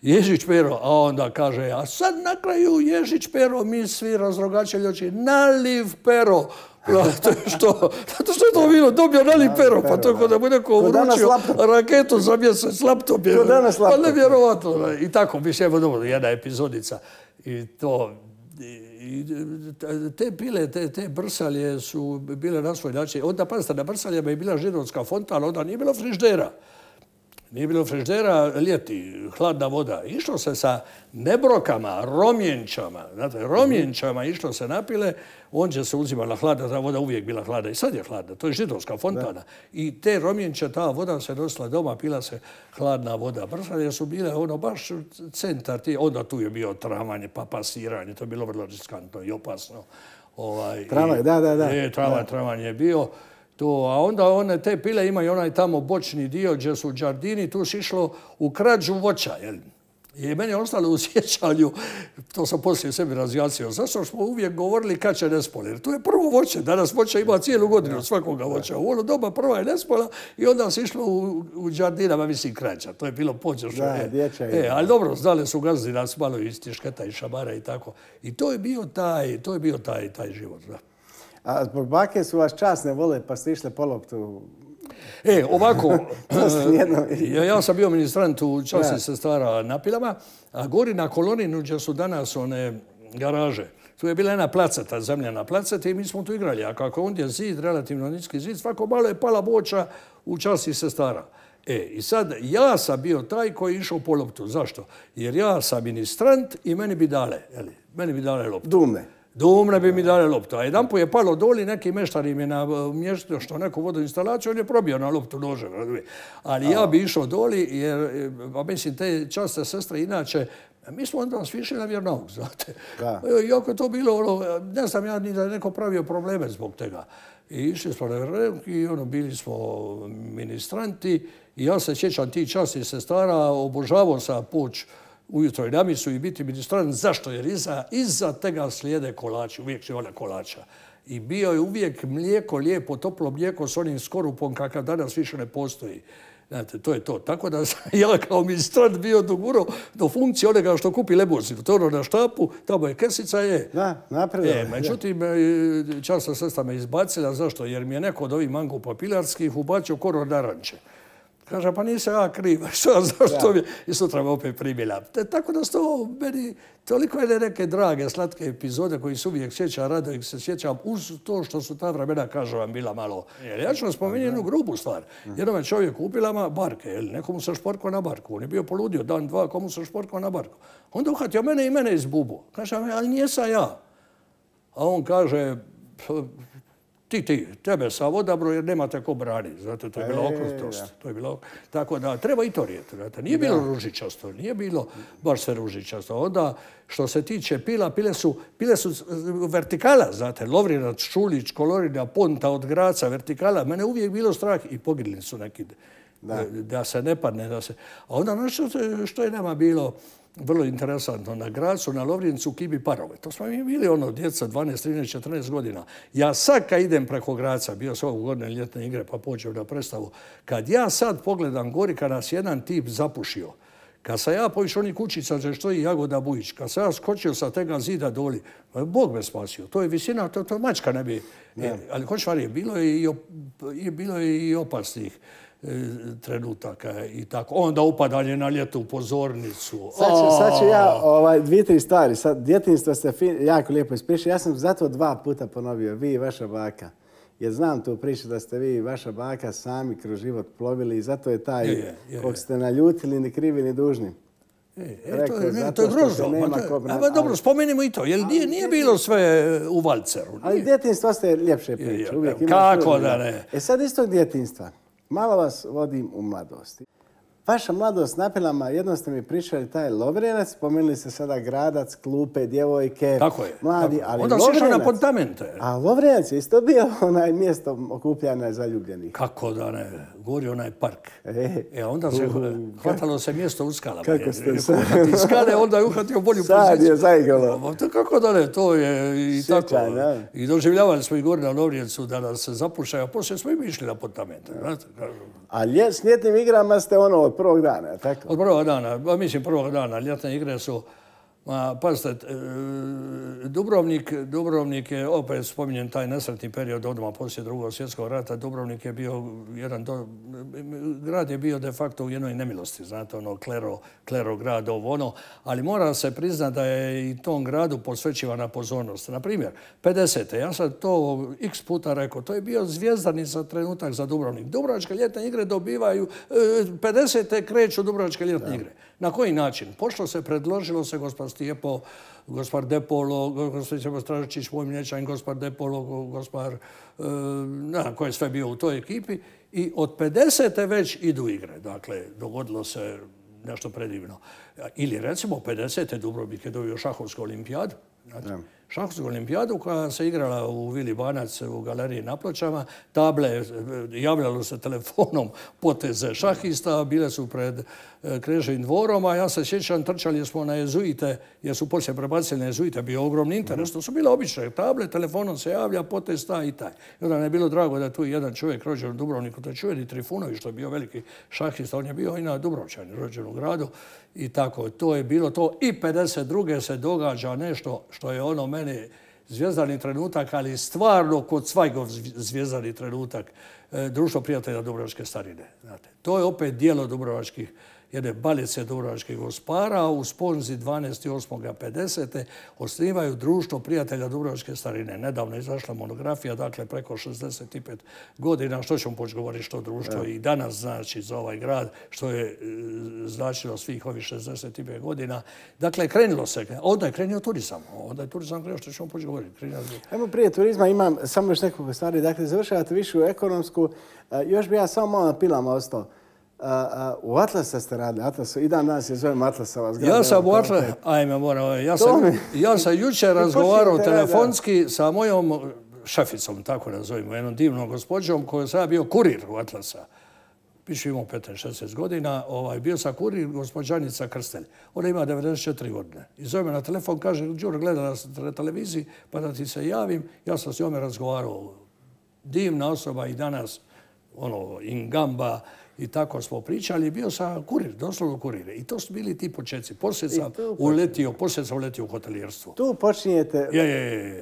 Ježić Pero, a onda kaže, a sad na kraju Ježić Pero, mi svi razrogačelji oči, naliv Pero. Zato što je to bilo, dobio naliv Pero, pa to kod da mu neko uručio raketu za mjesec, laptop je. Pa nevjerovatno. I tako, mislim, evo jedna epizodica. I to... Te pile, te brsalje su bile na svoj način. Onda, pazite, na brsaljama je bila židovska fontana, onda nije bilo friždera. Nije bilo friždera, ljeti, hladna voda. Išlo se sa nebrokama, romjenčama. Znate, romjenčama išlo se napile, ondje se uzimala hladna, ta voda uvijek bila hladna i sad je hladna. To je židovska fontana. I te romjenče, ta voda se nosila doma, pila se hladna voda. Brsalje su bile baš centar, onda tu je bio travanje, pa pasiranje, to je bilo vrlo riskantno i opasno. Travaj, da. Travanje je bio. A onda one te pile imaju onaj tamo bočni dio gdje su džardini, tu se išlo u krađu voća. I meni je ostalo u sjećanju, to sam poslije sebi razjasnio, zašto smo uvijek govorili kad će nespol, jer to je prvo voće, danas voća ima cijelu godinu svakoga voća. U ono doba prva je nespola i onda se išlo u džardinama, mislim, krađa. To je bilo počešno. Ali dobro, znali su gazdi nas malo iz tišketa i šamara i tako. I to je bio taj život. A zbog bake su vas časne vole, pa ste išli po loptu? Ovako, ja sam bio ministrant u časti sestara na Pilama, a gori na Koloninu, gdje su danas one garaže, tu je bila jedna placeta, zemljana placeta i mi smo tu igrali. A kako ondje zid, relativno niski zid, svako malo je pala boča u časti sestara. I sad ja sam bio taj koji je išao po loptu. Zašto? Jer ja sam ministrant i meni bi dale loptu. Dumne bi mi dale loptu. A jedan put je palo doli, neki meštar im je namještio što neku vodoinstalaciju, on je probio na loptu nožem. Ali ja bi išao doli jer, mislim, te časne sestre inače, mi smo onda svišli na vjernauk, znate. Iako je to bilo, ne znam ja ni da je neko pravio probleme zbog toga. I išli smo na vjernauk i bili smo ministranti i ja se sjećam tih časnih sestara, obožavao sam poć ujutro i na misu i biti ministrant. Zašto? Jer iza tega slijede kolači, uvijek će ona kolača. I bio je uvijek mlijeko, lijepo, toplo mlijeko s onim skorupom kakav danas više ne postoji. Znate, to je to. Tako da sam ja kao ministrant bio dogurao do funkcije onega što kupi lemuzinu. To na štapu, tamo je kesica, Da, napredno. Međutim, časna sestra me izbacila. Zašto? Jer mi je neko od ovih mangupa pilarskih ubacio koror naranče. Kaže, pa nisam ja kriv, zašto mi je? I sutra me opet primila. Tako da to meni toliko je neke drage, slatke epizode koji se uvijek sjećam, rado ih se sjećam, uz to što su ta vremena, kažem vam, bila malo. Ja ću vam spomenuti jednu grubu stvar. Jednom je čovjek kupila barke, nekomu se šporkao na barku. On je bio poludio, dan, dva, komu se šporkao na barku. Onda uhvatio mene i mene iz bubu. Kaže, ali nijesam ja. A on kaže, tebe sam odabro jer nemate ko braniti. Znate, to je bila okrutost. Tako da treba i to rijeti. Nije bilo ružičasto, nije bilo baš sve ružičasto. Onda, što se tiče pila, pile su vertikala, znate, Lovrinac, Šulić, Kolorina, Ponta od Graca, vertikala. Mene uvijek bilo strah i poginuli su neki da se ne padne. A onda nešto što je nama bilo vrlo interesantno, na Gracu, na Lovrincu, Kibi parove. To smo mi bili djeca 12, 13, 14 godina. Ja sad kad idem preko Graca, bio sam ovog godine ljetne igre pa počeo na predstavu, kad ja sad pogledam gori, kad nas jedan tip zapušio, kad sam ja poviš onih kućica za što je Jagoda Bujić, kad sam ja skočio sa tega zida doli, Bog me spasio. To je visina, to mačka ne bi. Ali hoćeš varije, bilo je i opasnih trenutaka i tako. Onda upadanje na ljeto u pozornicu. Sad ću ja dvije, tri stvari. Sad, djetinjstvo ste jako lijepo ispričali. Ja sam zato 2 puta ponovio, vi i vaša baka. Jer znam tu priču da ste vi i vaša baka sami kroz život plovili i zato je taj kog ste naljutili ni krivi ni dužni. To je grozno. Dobro, spomenimo i to. Jer nije bilo sve u valceru. Ali djetinjstvo ste ljepše priče. Kako da ne? Sad iz tog djetinjstva. Malo vas vodim u mladosti. Vaša mladost na Pilama, jednom ste mi pričali taj Lovrinac, spomenuli ste sada Gradac, klupe, djevojke, mladi, ali onda si išao na Pontamente. A Lovrinac je isto bio mjesto okupljanja zaljubljenih. Kako da ne, gori onaj park. Onda se hvatalo se mjesto u skalama. Kako ste se? Uhvati skale, onda je uhvatio bolju poziciju. Sad je zaigralo. Kako da ne, to je i tako. I doživljavali smo i gori na Lovrincu da nas se zapušaju, a poslije smo i išli na Pontamente. A s ljetnim igrama ste od prvog dana, tako? Od prvog dana, prvog dana. Ljetne igre su, pazite, Dubrovnik je, opet spominjem taj nesretni period odmah poslije Drugog svjetskog rata, Dubrovnik je bio grad je bio de facto u jednoj nemilosti, znate, klero grad, ali mora se priznati da je i tom gradu posvećivana pozornost. Na primjer, 50. ja sam to x puta rekao, to je bio zvjezdanica trenutak za Dubrovnik. Dubrovačke ljetne igre dobivaju, 50. kreću Dubrovačke ljetne igre. Na koji način? Pošto se predložilo se gospod Stijepo, gospod Depolo, gospod Stijepo Stražičić, moj mlječan, gospod Depolo, gospod, ko je sve bio u toj ekipi. I od 50. već idu igre. Dakle, dogodilo se nešto predivno. Ili recimo 50. Dubrovnik je dobio šahovsku olimpijadu. Šahovsku olimpijadu koja se igrala u Vili Banac u galeriji na Pločama. Table, javljalo se telefonom poteze šahista, bile su pred Kneževim dvorom, a ja se sjećam, trčali smo na jezuite, jer su poslije prebacili na jezuite, bio ogromni interes. To su bile obične table, telefonom se javlja, potez taj i taj. I onda mi je bilo drago da je tu jedan čovjek rođen u Dubrovniku, to je čuveni Trifunović, što je bio veliki šahista, on je bio i na Dubrovčani, rođen u gradu. I tako, to je bilo to. I 52. se događa nešto što je meni zvijezdani trenutak, ali stvarno kod Cvajgov zvijezdani trenutak. Društvo prijatelja Dubrovačke starine. Znate, to je opet dijelo jedne balice dubrovačkih gospara. U sponzi 12.8.50. osnivaju Društvo prijatelja Dubrovačke starine. Nedavno je izašla monografija, dakle preko 65 godina. Što ćemo početi govoriti što društvo i danas znači za ovaj grad, što je značilo svih ovih 65 godina. Dakle, krenulo se. Onda je krenio turizam. Onda je turizam krenuo, što ćemo početi govoriti. Evo prije turizma imam samo još nekoliko stvari. Dakle, završavate višu ekonomsku. Još bi ja samo malo na Pilama ostao. U Atlasa ste radili. I dan danas je zovem Atlasova zgrada. Ja sam u Atlasu. Ajme, moram. Ja sam jučer razgovarao telefonski sa mojom šeficom, tako nazovimo, jednom divnom gospođom, koja sam ja bio kurir u Atlasa. Piše imao 15-16 godina. Bio sam kurir gospođanica Krstelj. Ona ima 94 godine. I zove me na telefon, kaže, Đuro, gleda nas na televiziji, pa da ti se javim. Ja sam s njome razgovarao. Divna osoba i danas, ingamba, i tako smo pričali. Bio sam kurir, doslovno kurir. I to su bili ti početci. Poslije sam uletio u hotelijerstvo. Tu počinjete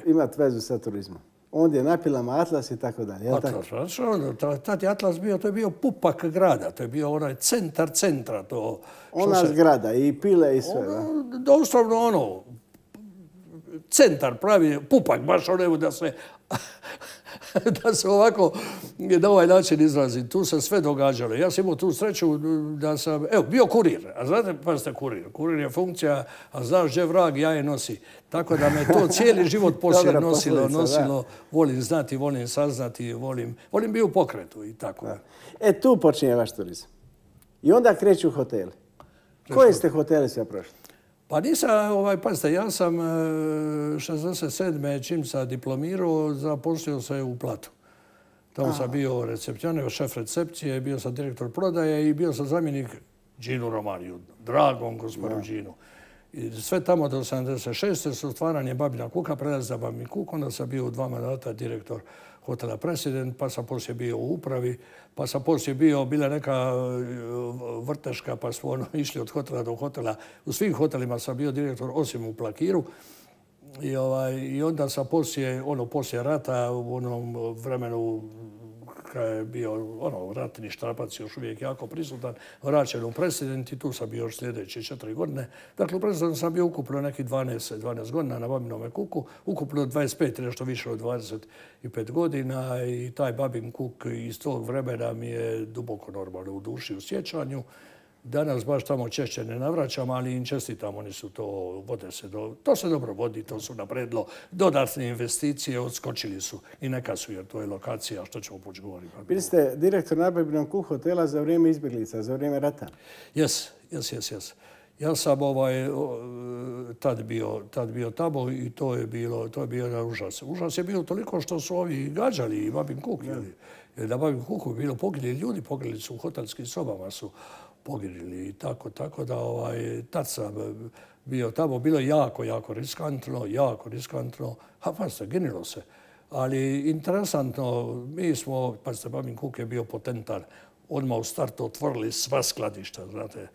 imati vezu sa turizmom. Onda je na Pilama Atlas i tako dalje. Atlas, tad je Atlas bio, to je bio pupak grada. To je bio onaj centra. Ona zgrada i pile i sve. Doslovno centar pravi, pupak, baš da se da se ovako na ovaj način izrazim. Tu se sve događalo. Ja sam imao tu sreću da sam, evo, bio kurir. A znate, pa ste kurir. Kurir je funkcija, a znaš gdje vrag jaje nosi. Tako da me to cijeli život poslije nosilo. Volim znati, volim saznati, volim biti u pokretu i tako. Da. Tu počinje vaš turizam. I onda kreću hoteli. Koje ste hoteli sve prošli? Pa nisam, pazite, ja sam 67. čim sam diplomirao, zaposlio se u Platu. Tamo sam bio recepcioner, šef recepcije, bio sam direktor prodaje i bio sam zamjenik Đinu Romaniju, dragom gospodinu Đinu. I sve tamo do 76. su stvaranje Babina Kuka, prelaz za Babin Kuk, onda sam bio u 2 mandata direktor hotela President, pa sam poslije bio u upravi, pa sam poslije bila neka vrteška, pa smo išli od hotela do hotela. U svim hotelima sam bio direktor, osim u Plakiru. I onda sam poslije rata, u onom vremenu kad je bio ratni štrapac još uvijek jako prisutan, vraćen u President i tu sam bio još sljedeće 4 godine. Dakle, u Presidentu sam bio ukupno nekih 12 godina na Babinome Kuku, ukupno 25, nešto više od 25 godina i taj Babin Kuk iz tog vremena mi je duboko normalno u duši, u sjećanju. Danas baš tamo češće ne navraćam, ali im čestitam, oni su to se dobro vodi, to su napredilo. Dodatne investicije odskočili su i neka su, jer to je lokacija, što ćemo poći govoriti. Bili ste direktor na Babinom Kuku hotela za vrijeme izbjeglica, za vrijeme rata? Jes. Ja sam tad bio tamo i to je bio jedan užas. Užas je bilo toliko što su ovi gađali i Babin Kuk. Jer na Babin Kuku je bilo poginuli ljudi, poginuli su u hotelskim sobama, su poginuli i tako da tad sam bio tamo. Bilo je jako riskantno. Pa se ginilo se. Ali interesantno, mi smo, pazite, Babin Kuk je bio potentan. Odmah u startu otvorili sva skladišta, znate.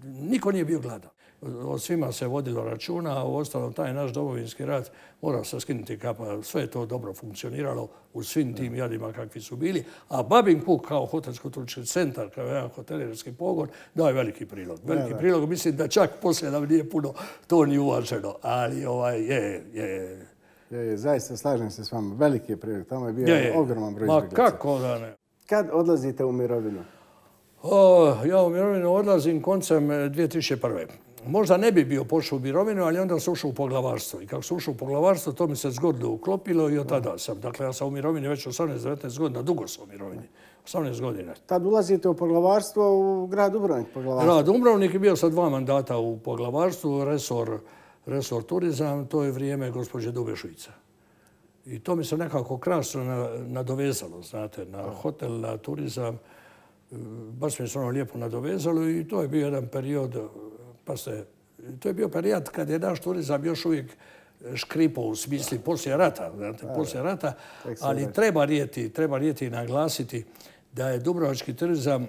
Niko nije bio gladan. O svima se vodilo računa, a uostalom taj naš domovinski rat mora se skinuti kapa. Sve je to dobro funkcioniralo u svim tim jadima kakvi su bili. A Babin Kuk kao hotelsko-turistički centar, kao jedan hotelijerski pogon, daje veliki prilog. Veliki prilog, mislim da čak poslije nam nije puno to ni uvaženo. Ali je. Zaista slažem se s vama. Veliki je prilog. Tamo je bio ogroman broj izbjeglica. Ma kako da ne? Kad odlazite u mirovinu? Ja u mirovinu odlazim koncem 2001. Možda ne bi bio pošao u mirovinu, ali onda sam ušao u poglavarstvo. I kako sam ušao u poglavarstvo, to mi se zgodno uklopilo i od tada sam. Dakle, ja sam u mirovini već 18-19 godina, dugo sam u mirovini. 18 godina. Tad ulazite u poglavarstvo u grad Dubrovnik? Grad Dubrovnik je bio sa 2 mandata u poglavarstvu, resor turizam, to je vrijeme gospođe Dube Šuica. I to mi se nekako krasno nadovezalo, znate, na hotel, na turizam. Baš mi se ono lijepo nadovezalo i to je bio jedan period, to je bio period kad je naš turizam još uvijek škripao u smisli poslije rata, ali treba rijeti i naglasiti da je dubrovački turizam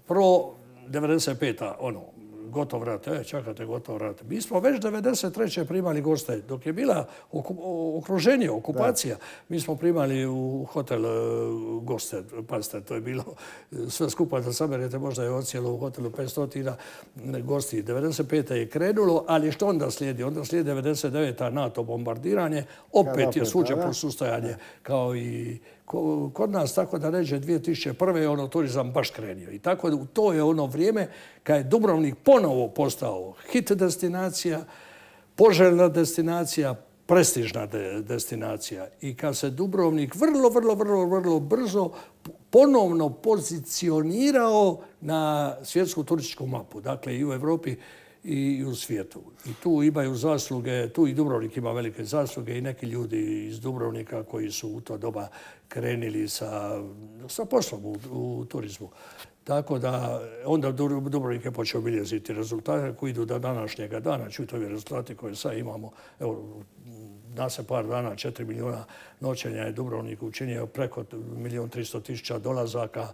pro 95. Gotov rat. Čekate, gotov rat. Mi smo već 93. primali goste. Dok je bila okruženje, okupacija, mi smo primali u hotel goste. Pazite, to je bilo sve skupa da saberete, možda je ocijelo u hotelu 500 gosti. 95. je krenulo, ali što onda slijedi? Onda slijedi 99. NATO bombardiranje. Opet je svuđe posustajanje kao i kod nas, tako da ređe 2001. turizam baš krenio. I tako to je ono vrijeme kad je Dubrovnik ponovo postao hit destinacija, poželjna destinacija, prestižna destinacija. I kad se Dubrovnik vrlo brzo ponovno pozicionirao na svjetsku turističku mapu. Dakle, i u Europi i u svijetu. I tu imaju zasluge, tu i Dubrovnik ima velike zasluge i neki ljudi iz Dubrovnika koji su u to doba krenili sa poslom u turizmu. Tako da onda Dubrovnik je počeo obiljeziti rezultate koji idu do današnjega dana. Čujte ovi rezultati koje sad imamo. Evo, se par dana 4 milijuna noćenja je Dubrovnik učinio, preko 1.300.000 dolazaka.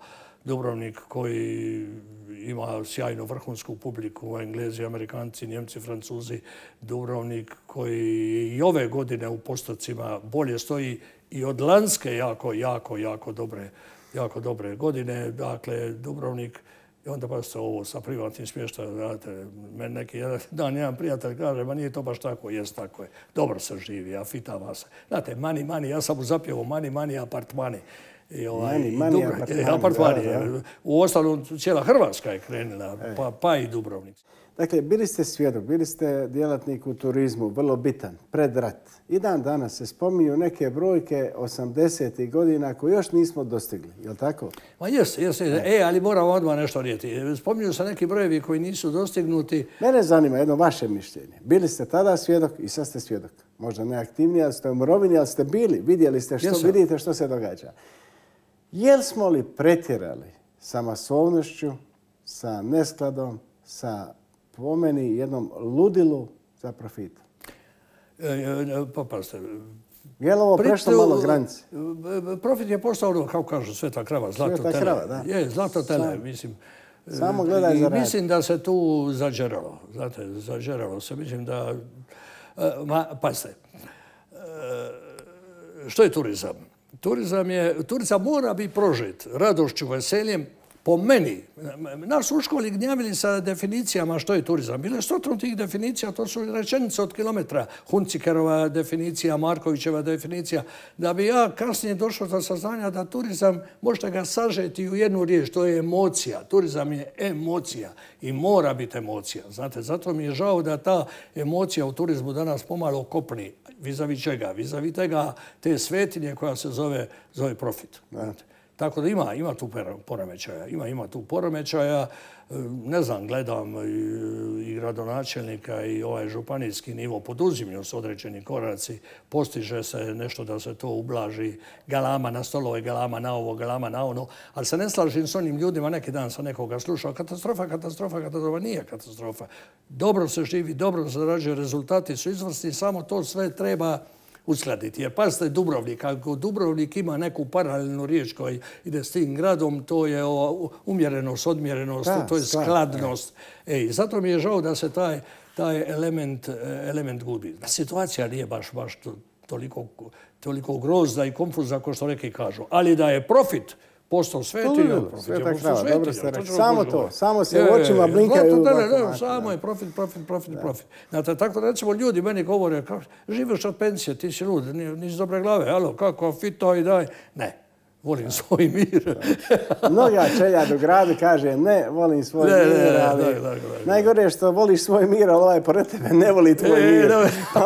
Dubrovnik koji ima sjajnu vrhunsku publiku, Englezi, Amerikanci, Njemci, Francuzi. Dubrovnik koji i ove godine u postocima bolje stoji i od lanjske jako dobre godine. Dakle, Dubrovnik I onda pa se ovo sa privatnim smještajem, znate, meni neki jedan prijatelj kaže, ma nije to baš tako, jest tako je. Dobro se živi, a fitava se. Znate, mani, ja sam mu zapjevao mani, apartmani. Apartmani. U ostalom, cijela Hrvatska je krenula, pa i Dubrovnik. Dakle, bili ste svjedok, bili ste djelatnik u turizmu, vrlo bitan, pred rat. I dan danas se spominju neke brojke 80. godina koje još nismo dostigli, je li tako? Ma jest. Ali moram odmah nešto reći. Spominju se neki brojevi koji nisu dostignuti. Mene zanima jedno vaše mišljenje. Bili ste tada svjedok i sad ste svjedok. Možda neaktivniji, ali ste u mirovini, ali ste bili. Vidjeli ste vidite što se događa. Jel smo li pretjerali sa masovnošću, sa neskladom, sa po meni jednom ludilu za profitom? Pa pazite. Je li ovo prešlo malo granice? Profit je postao ono, kako kažu, sveta krava, zlato tele. Sveta krava, da. Je, zlato tele, mislim. Samo gledaj za rad. Mislim da se tu zađeralo. Znate, zađeralo se. Mislim da... Pazite. Što je turizam? Turizam mora biti prožet radošću, veseljem. Po meni, nas u školi gnjavili sa definicijama što je turizam. Bile stotinu tih definicija, to su rečenice od kilometra. Huncikerova definicija, Markovićeva definicija. Da bi ja kasnije došao do saznanja da turizam, možete ga sažeti u jednu riječ, to je emocija. Turizam je emocija i mora biti emocija. Znate, zato mi je žao da ta emocija u turizmu danas pomalo kopni. Vis-a-vis čega? Vis-a-vis te svetinje koja se zove profit. Znate. Tako da ima tu poremećaja. Ima tu poremećaja. Ne znam, gledam i gradonačelnika i ovaj županijski nivo poduzimlju s određeni koraci. Postiže se nešto da se to ublaži. Galama na stolove, galama na ovo, galama na ono. Ali se ne slažem s onim ljudima. Neki dan sam nekoga slušao. Katastrofa. Nije katastrofa. Dobro se živi, dobro se zarađuje, rezultati su izvrsni. Samo to sve treba uskladiti. Jer pazite, Dubrovnik, ako Dubrovnik ima neku paralelnu riječ koja ide s tim gradom, to je umjerenost, odmjerenost, to je skladnost. Zato mi je žao da se taj element gubi. Situacija nije baš toliko grozna i konfuzna kao što neki kažu. Ali da je profit postao svetinja. Sveta krava, dobro ste rekli. Samo to, samo se u očima blinkaju. Samo je profit. Znate, tako da recimo ljudi meni govore, živiš od pensije, ti si lud, nisi dobre glave, alo, kako fito i daj. Ne, volim svoj mir. Mnoga čeljad u gradu kaže ne, volim svoj mir, ali najgore je što voliš svoj mir, ali ovaj pored tebe ne voli tvoj mir.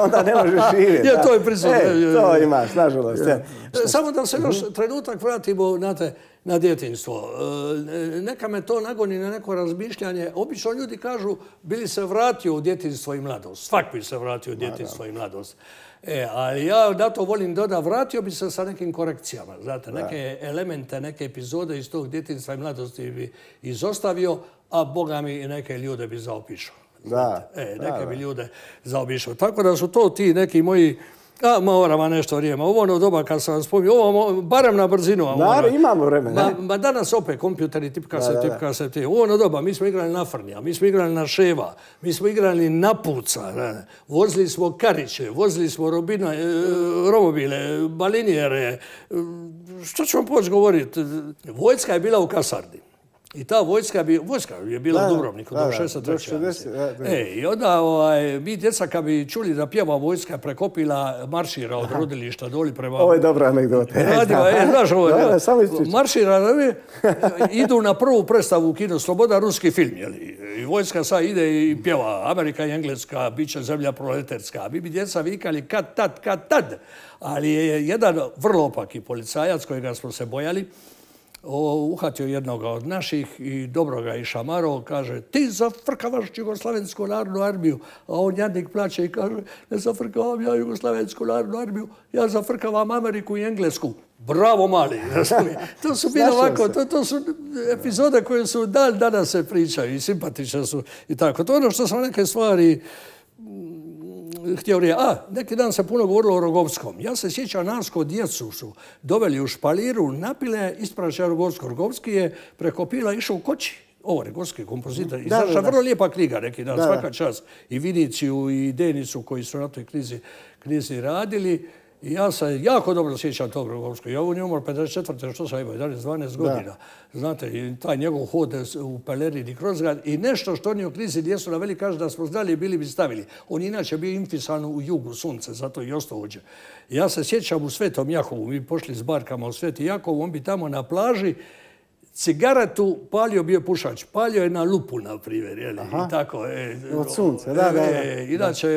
Onda ne možeš živjeti. To je prisutno. To imaš, nažalost. Samo da se još trenutak vratimo na djetinjstvo. Neka me to nagoni na neko razmišljanje. Obično ljudi kažu bili se vratio u djetinjstvo i mladost. Svak bi se vratio u djetinjstvo i mladost. Ali ja na to volim dodati, vratio bi se sa nekim korekcijama. Znate, neke elemente, neke epizode iz tog djetinjstva i mladosti bi izostavio, a Boga mi neke ljude bi zaobišao. Neke bi ljude zaobišao. Tako da su to ti neki moji... moram vam nešto vrijeme. Ovo ono doba kad sam vam spomnio, ovo barem na brzinu. Imamo vremena. Danas opet kompjuteri, tipka se ti. Ovo ono doba, mi smo igrali na Frnja, mi smo igrali na Ševa, mi smo igrali na Puca, vozili smo kariće, vozili smo romobile, balinijere. Što ću vam poći govoriti? Vojska je bila u kasarni. I ta vojska je bila u Dubrovniku do 63. I onda mi djeca kad bi čuli da pjeva vojska prekopila maršira od rodilišta doli prema... Ovo je dobra anegdota. Znaš ovo, maršira idu na prvu predstavu u kino Sloboda, ruski film. I vojska sad ide i pjeva Amerika i Engleska, bit će zemlja proletarska. Mi bi djeca vikali kad tad. Ali je jedan vrlo opaki policajac kojega smo se bojali, uhvatio jednoga od naših i dobro ga išamarao, kaže ti zafrkavaš Jugoslavensku narodnu armiju, a on jadnik plaće i kaže ne zafrkavam ja Jugoslavensku narodnu armiju, ja zafrkavam Ameriku i Englesku. Bravo mali, to su bilo ovako, to su epizode koje su dan danas se pričaju i simpatične su i tako. To je ono što sam neke stvari htio reći. Neki dan se puno govorilo o Rogovskom. Ja se sjećam, nas kod djecu su doveli u špaliru, napile, ispraćaj Rogovsko. Rogovski je preko pila išao u Koči. Ovo, Rogovski kompozitor. Izašla vrlo lijepa knjiga neki dan, svaka čast. I Viniciju i Denicu koji su na toj knjizi radili. I ja se jako dobro sjećam tog Rogovskog. Ja on je umor 54. što sam imao, 11-12 godina. Znate, i taj njegov hod u pelerini kroz grad. I nešto što oni u krizi Lijesu naveli, kaže da smo znali, bili bi stavili. On inače bio infisan u jugu sunce, zato i ostao ovdje. Ja se sjećam u Svetom Jakovu, mi pošli s barkama u Sveti Jakov, on bi tamo na plaži cigaretu palio, bio pušač. Palio je na lupu, na primjer. I tako. Od sunca, da. Inače,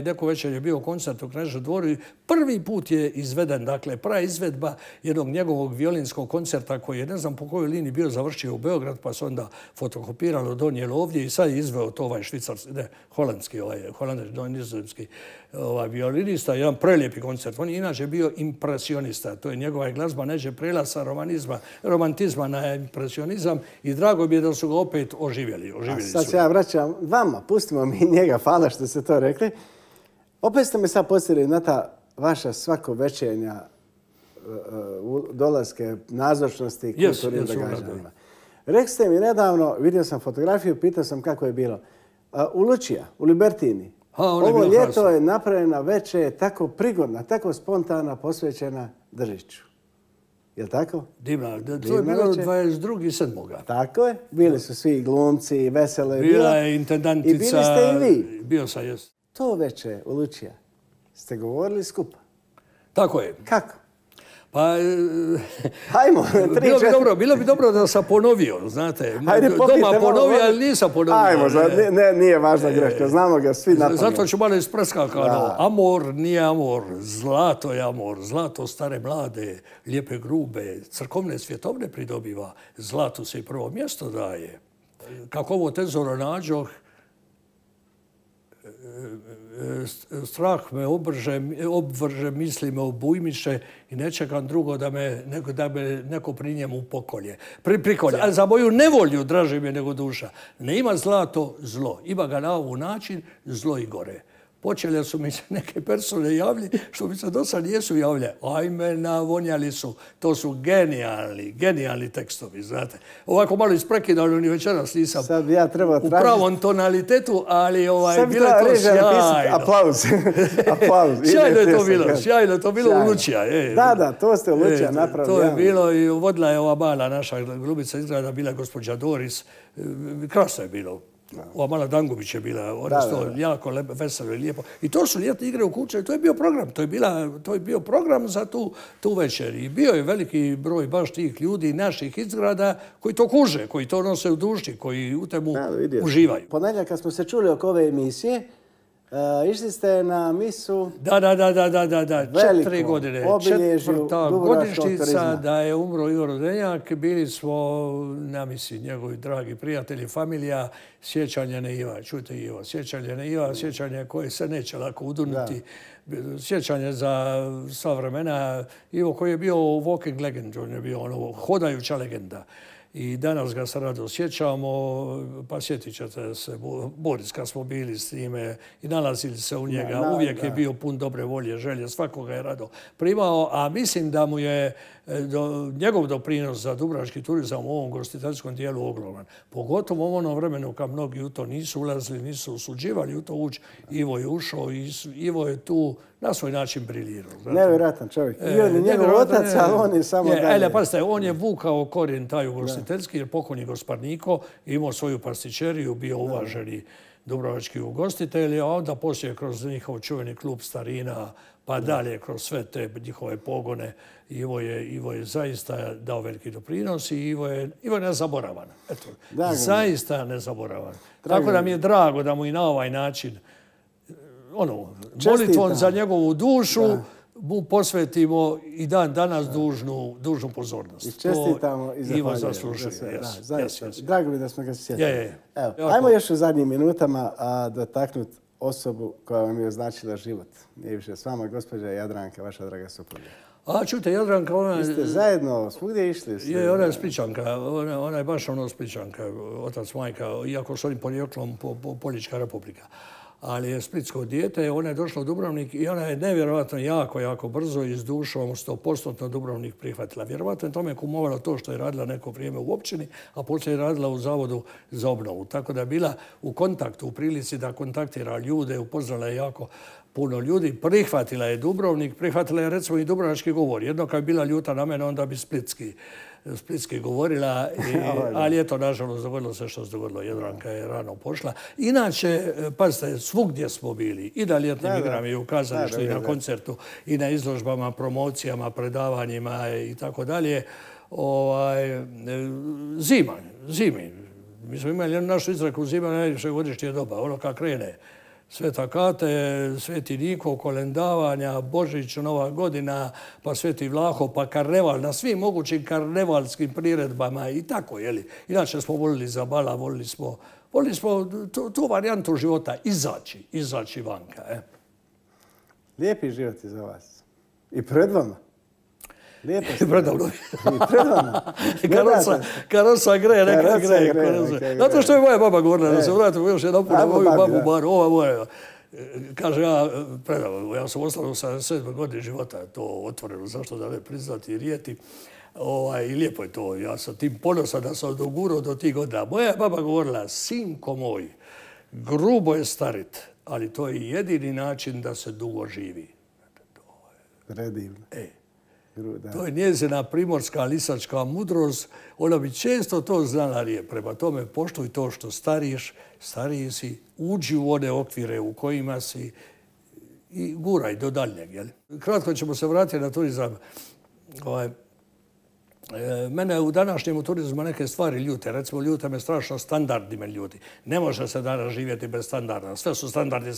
neko večer je bio koncert u Kneževom dvoru i prvi put je izveden, dakle, praizvedba jednog njegovog violinskog koncerta koji je, ne znam po kojoj liniji bio završio u Beograd, pa se onda fotokopiralo, donijelo ovdje i sad je izveo to švicarski, ne, holandski, nizozemski violinista, jedan prelijepi koncert. On je inače bio impresionista. To je njegova glazba neđe prela sa romantizma na impresionizam i drago mi je da su ga opet oživjeli. Sad se ja vraćam vama, pustimo mi njega, hvala što ste to rekli. Opet ste me sad podsjetili na ta vaša svakovečernja dolaske, nazočnosti i kulturnim događanjima. Rekli ste mi nedavno, vidio sam fotografiju, pitao sam kako je bilo. U Lučija, u Libertini. Ovo ljeto je napravljena večer tako prigodna, tako spontana, posvećena Držiću. Je li tako? Divna. To je bilo 22.7. Tako je. Bili su svi glumci i veselo je bilo. Bila je intendantica. I bili ste i vi. Bio sam, jes. To večer u Lučija ste govorili skupa. Tako je. Kako? Pa, hajmo, bilo bi dobro da sam ponovio, znate. Doma ponovio, ali nisam ponovio. Hajmo, nije važna greška, znamo ga svi napamet. Zato ću malo ispreskakano. Amor nije amor, zlato je amor, zlato stare mlade, lijepe grube, crkovne svjetovne pridobiva, zlatu se i prvo mjesto daje. Kako ovo tezoro nađoh, strah me obvrže, misli me obujmiše i ne čekam drugo da me neko pri njemu pokolje. Prikolje. A za moju nevolju draži me nego duša. Ne ima zlato zlo. Ima ga na ovu način zlo i gore. Počele su mi se neke persone javljati što mi se do sad nijesu javljali. Ajme, navonjali su. To su genijalni tekstovi, znate. Ovako malo isprekidano ni večeras nisam sad ja treba u pravom tonalitetu, ali bilo je to sjajno. Aplauz. Sjajno je to bilo u Lučija. Da, to ste u Lučija napravili. To je bilo i vodila je ova mala naša glumica izgleda, bila gospođa Doris. Krasno je bilo. Ova mala Dangubić je bila, ono jako veselo i lijepo. I to su ljetne igre u Kučevu, to je bio program. To je bio program za tu večer. I bio je veliki broj baš tih ljudi, naših izgrada, koji to kuže, koji to nose u duši, koji u temu uživaju. Ponedjeljak kad smo se čuli oko ove emisije, išli ste na misu... Da. 4 godine. Četvrta godišnjica da je umro Igor Rodenjak. Bili smo na misi, njegovi dragi prijatelji, familija, sjećanje na Iva. Čujte Ivo, sjećanje na Iva, sjećanje koje se neće lako udurnuti. Sjećanje za sva vremena. Ivo koji je bio walking legend, on je bio hodajuća legenda. I danas ga se rado sjećamo, pa sjetit ćete se, Boris, kad smo bili s njime i nalazili se u njega, uvijek je bio pun dobre volje, želje, svakoga je rado primao, a mislim da mu je njegov doprinos za dubrovački turizam u ovom gostiteljskom dijelu ogroman. Pogotovo u onom vremenu kad mnogi u to nisu ulazili, nisu usuđivali u to ući, Ivo je ušao i Ivo je tu na svoj način briljirao. Nevjerojatan čovjek. I on je njegov otac, ali on je samo dalje. Pazite, on je vukao korijen taj ugostiteljski, jer pokojni Gosparniko imao svoju pastičeriju, bio uvaženi dubrovački ugostitelj, a onda poslije kroz njihov čuveni klub starina, pa dalje kroz sve te njihove pogone, Ivo je zaista dao veliki doprinos i Ivo je nezaboravan. Eto, zaista nezaboravan. Tako da mi je drago da mu i na ovaj način molitvom za njegovu dušu mu posvetimo i dan danas dužnu pozornost. I čestitamo i zahvaljujemo. Ivo zaslužuje. Drago mi da smo ga sjetili. Ajmo još u zadnjim minutama dotaknuti osobu koja vam je označila život. Nije više s vama, gospođa Jadranka, vaša draga supruga. Čujte, Jadranka, ona... Vi ste zajedno svugdje išli? Ona je Splićanka, ona je baš Splićanka, otac, majka, iako su oni porijeklom Poljička republika. Ali je splitsko dijete, ona je došla u Dubrovnik i ona je nevjerojatno jako brzo i s dušom 100% Dubrovnik prihvatila. Vjerovatno je tome kumovalo to što je radila neko vrijeme u općini, a poslije je radila u Zavodu za obnovu. Tako da je bila u kontaktu, u prilici da kontaktira ljude, upoznala je jako puno ljudi. Prihvatila je Dubrovnik, prihvatila je recimo i dubrovački govor. Jedno kad bi bila ljuta na mene, onda bi splitski govorila, ali eto, nažalost, dogodilo se što se dogodilo. Jadranka je rano pošla. Inače, pazite, svugdje smo bili. I na ljetnim igrama, i u kazalištu, i na koncertu, i na izložbama, promocijama, predavanjima i tako dalje. Zimi. Mi smo imali jednu našu izreku, zima najljepše godišnje doba. Ono kad krene Sveta Kate, Sveti Niko, kolendavanja, Božić, Nova godina, pa Sveti Vlaho, pa karneval, na svim mogućim karnevalskim priredbama i tako, jeli. Inače smo volili zabala, volili smo tu varijantu života, izaći vanka. Lijepi život je za vas. I pred vama. Lijepo ste. Predavno. I pred vama. Karosa gre, neka gre. Znate što je moja baba govorila, da se vratimo još jedan put na moju babu Baru. Ova moja, kaže, ja sam ostalo 77 godine života, to otvoreno, zašto da ne priznati i rijeti. I lijepo je to, ja sam tim ponosan da sam dogurao do tih godina. Moja baba govorila, sinko moj, grubo je starit, ali to je jedini način da se dugo živi. Predivno. To je njezina primorska lisačka mudrost. Ona bi često to znala rije. Prema tome, poštuj to što stariji si, uđi u one okvire u kojima si i guraj do daljnjeg. Kratko ćemo se vratiti na turizam. Mene u današnjem turizmu neke stvari ljute. Recimo, ljute me strašno standardi me ljuti. Ne može se danas živjeti bez standarda. Sve su standardi.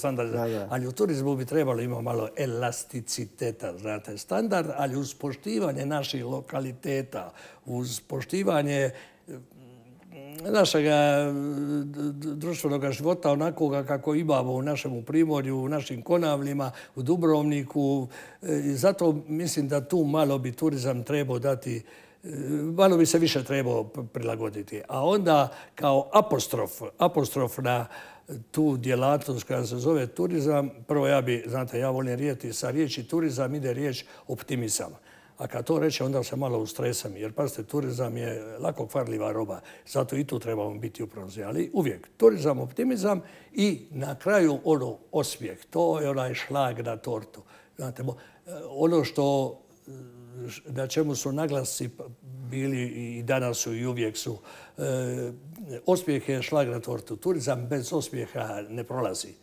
Ali u turizmu bi trebalo imati malo elasticiteta. Znate, standard, ali uz poštivanje naših lokaliteta, uz poštivanje našeg društvenog života onakoga kako imamo u našem Primorju, u našim Konavlima, u Dubrovniku. I zato mislim da tu malo bi turizam trebao dati, malo bi se više trebao prilagoditi. A onda kao apostrof na tu djelatnost koja se zove turizam, prvo ja volim rijeti, sa riječi turizam ide riječ optimizam. A kad to reče, onda se malo ustresam. Jer, pazite, turizam je lako kvarljiva roba. Zato i tu trebamo biti upravzi. Ali uvijek turizam, optimizam i na kraju osmijeh. To je onaj šlag na tortu. Znate, ono što na čemu su naglasci bili i danas su i uvijek su. Osmijeh je šlag na tortu. Turizam bez osmijeha ne prolazi.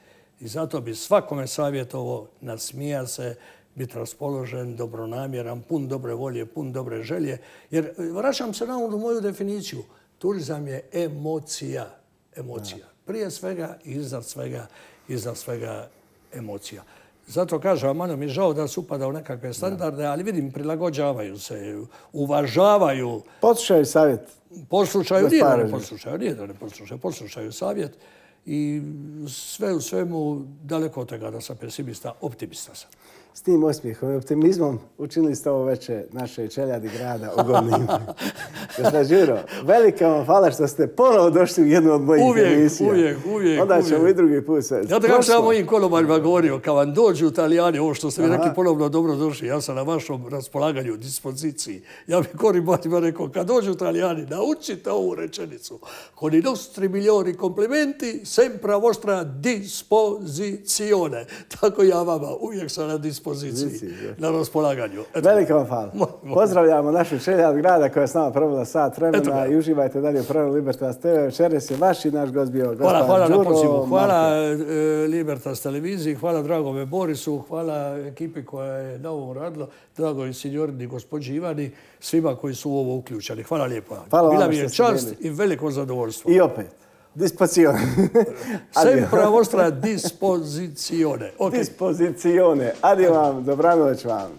I zato bi svakome savjetovao, nasmija se, biti raspoložen, dobronamjeran, pun dobre volje, pun dobre želje. Jer vraćam se na onu moju definiciju. Turizam je emocija. Prije svega i iznad svega emocija. Zato kažem, malo mi je žao da se upada u nekakve standarde, ali vidim, prilagođavaju se, uvažavaju. Poslušaju savjet. Nije da ne poslušaju savjet. I sve u svemu daleko od toga da sam pesimista, optimista sam. S tim osmijehom i optimizmom učinili ste ovo veče naše čeljadi grada Ogolnim. Gospodin Đuro, velika vam hvala što ste ponovo došli u jednu od mojih emisija. Uvijek. Onda ćemo i drugi put se... Ja tako sam mojim kolobarima govorio, kad vam dođu Italijani, ovo što ste mi rekli ponovno dobro došli, ja sam na vašom raspolaganju, dispoziciji. Ja bi Koribatima rekao, kad dođu Italijani, naučite ovu rečenicu. Con i nostri migliori complimenti, sempre a vostra disposizione. Tako ja vama, uvijek sam na dispoziciji, na raspolaganju. Velika vam hvala. Pozdravljamo našu čeljad grada koja je s nama provela sat vremena i uživajte dalje u programu Libertas TV. Večeras je vaš i naš gost bio gospodin Đuro. Hvala na pozivu. Hvala Libertas televiziji, hvala dragome Borisu, hvala ekipi koja je na ovom radila, dragoj signorini gospođi Ivani, svima koji su u ovo uključeni. Hvala lijepo. Bila mi je čast i veliko zadovoljstvo. I opet. Disposizione. Sempre a vostra disposizione. Disposizione. Adio vam, dobranoć vam.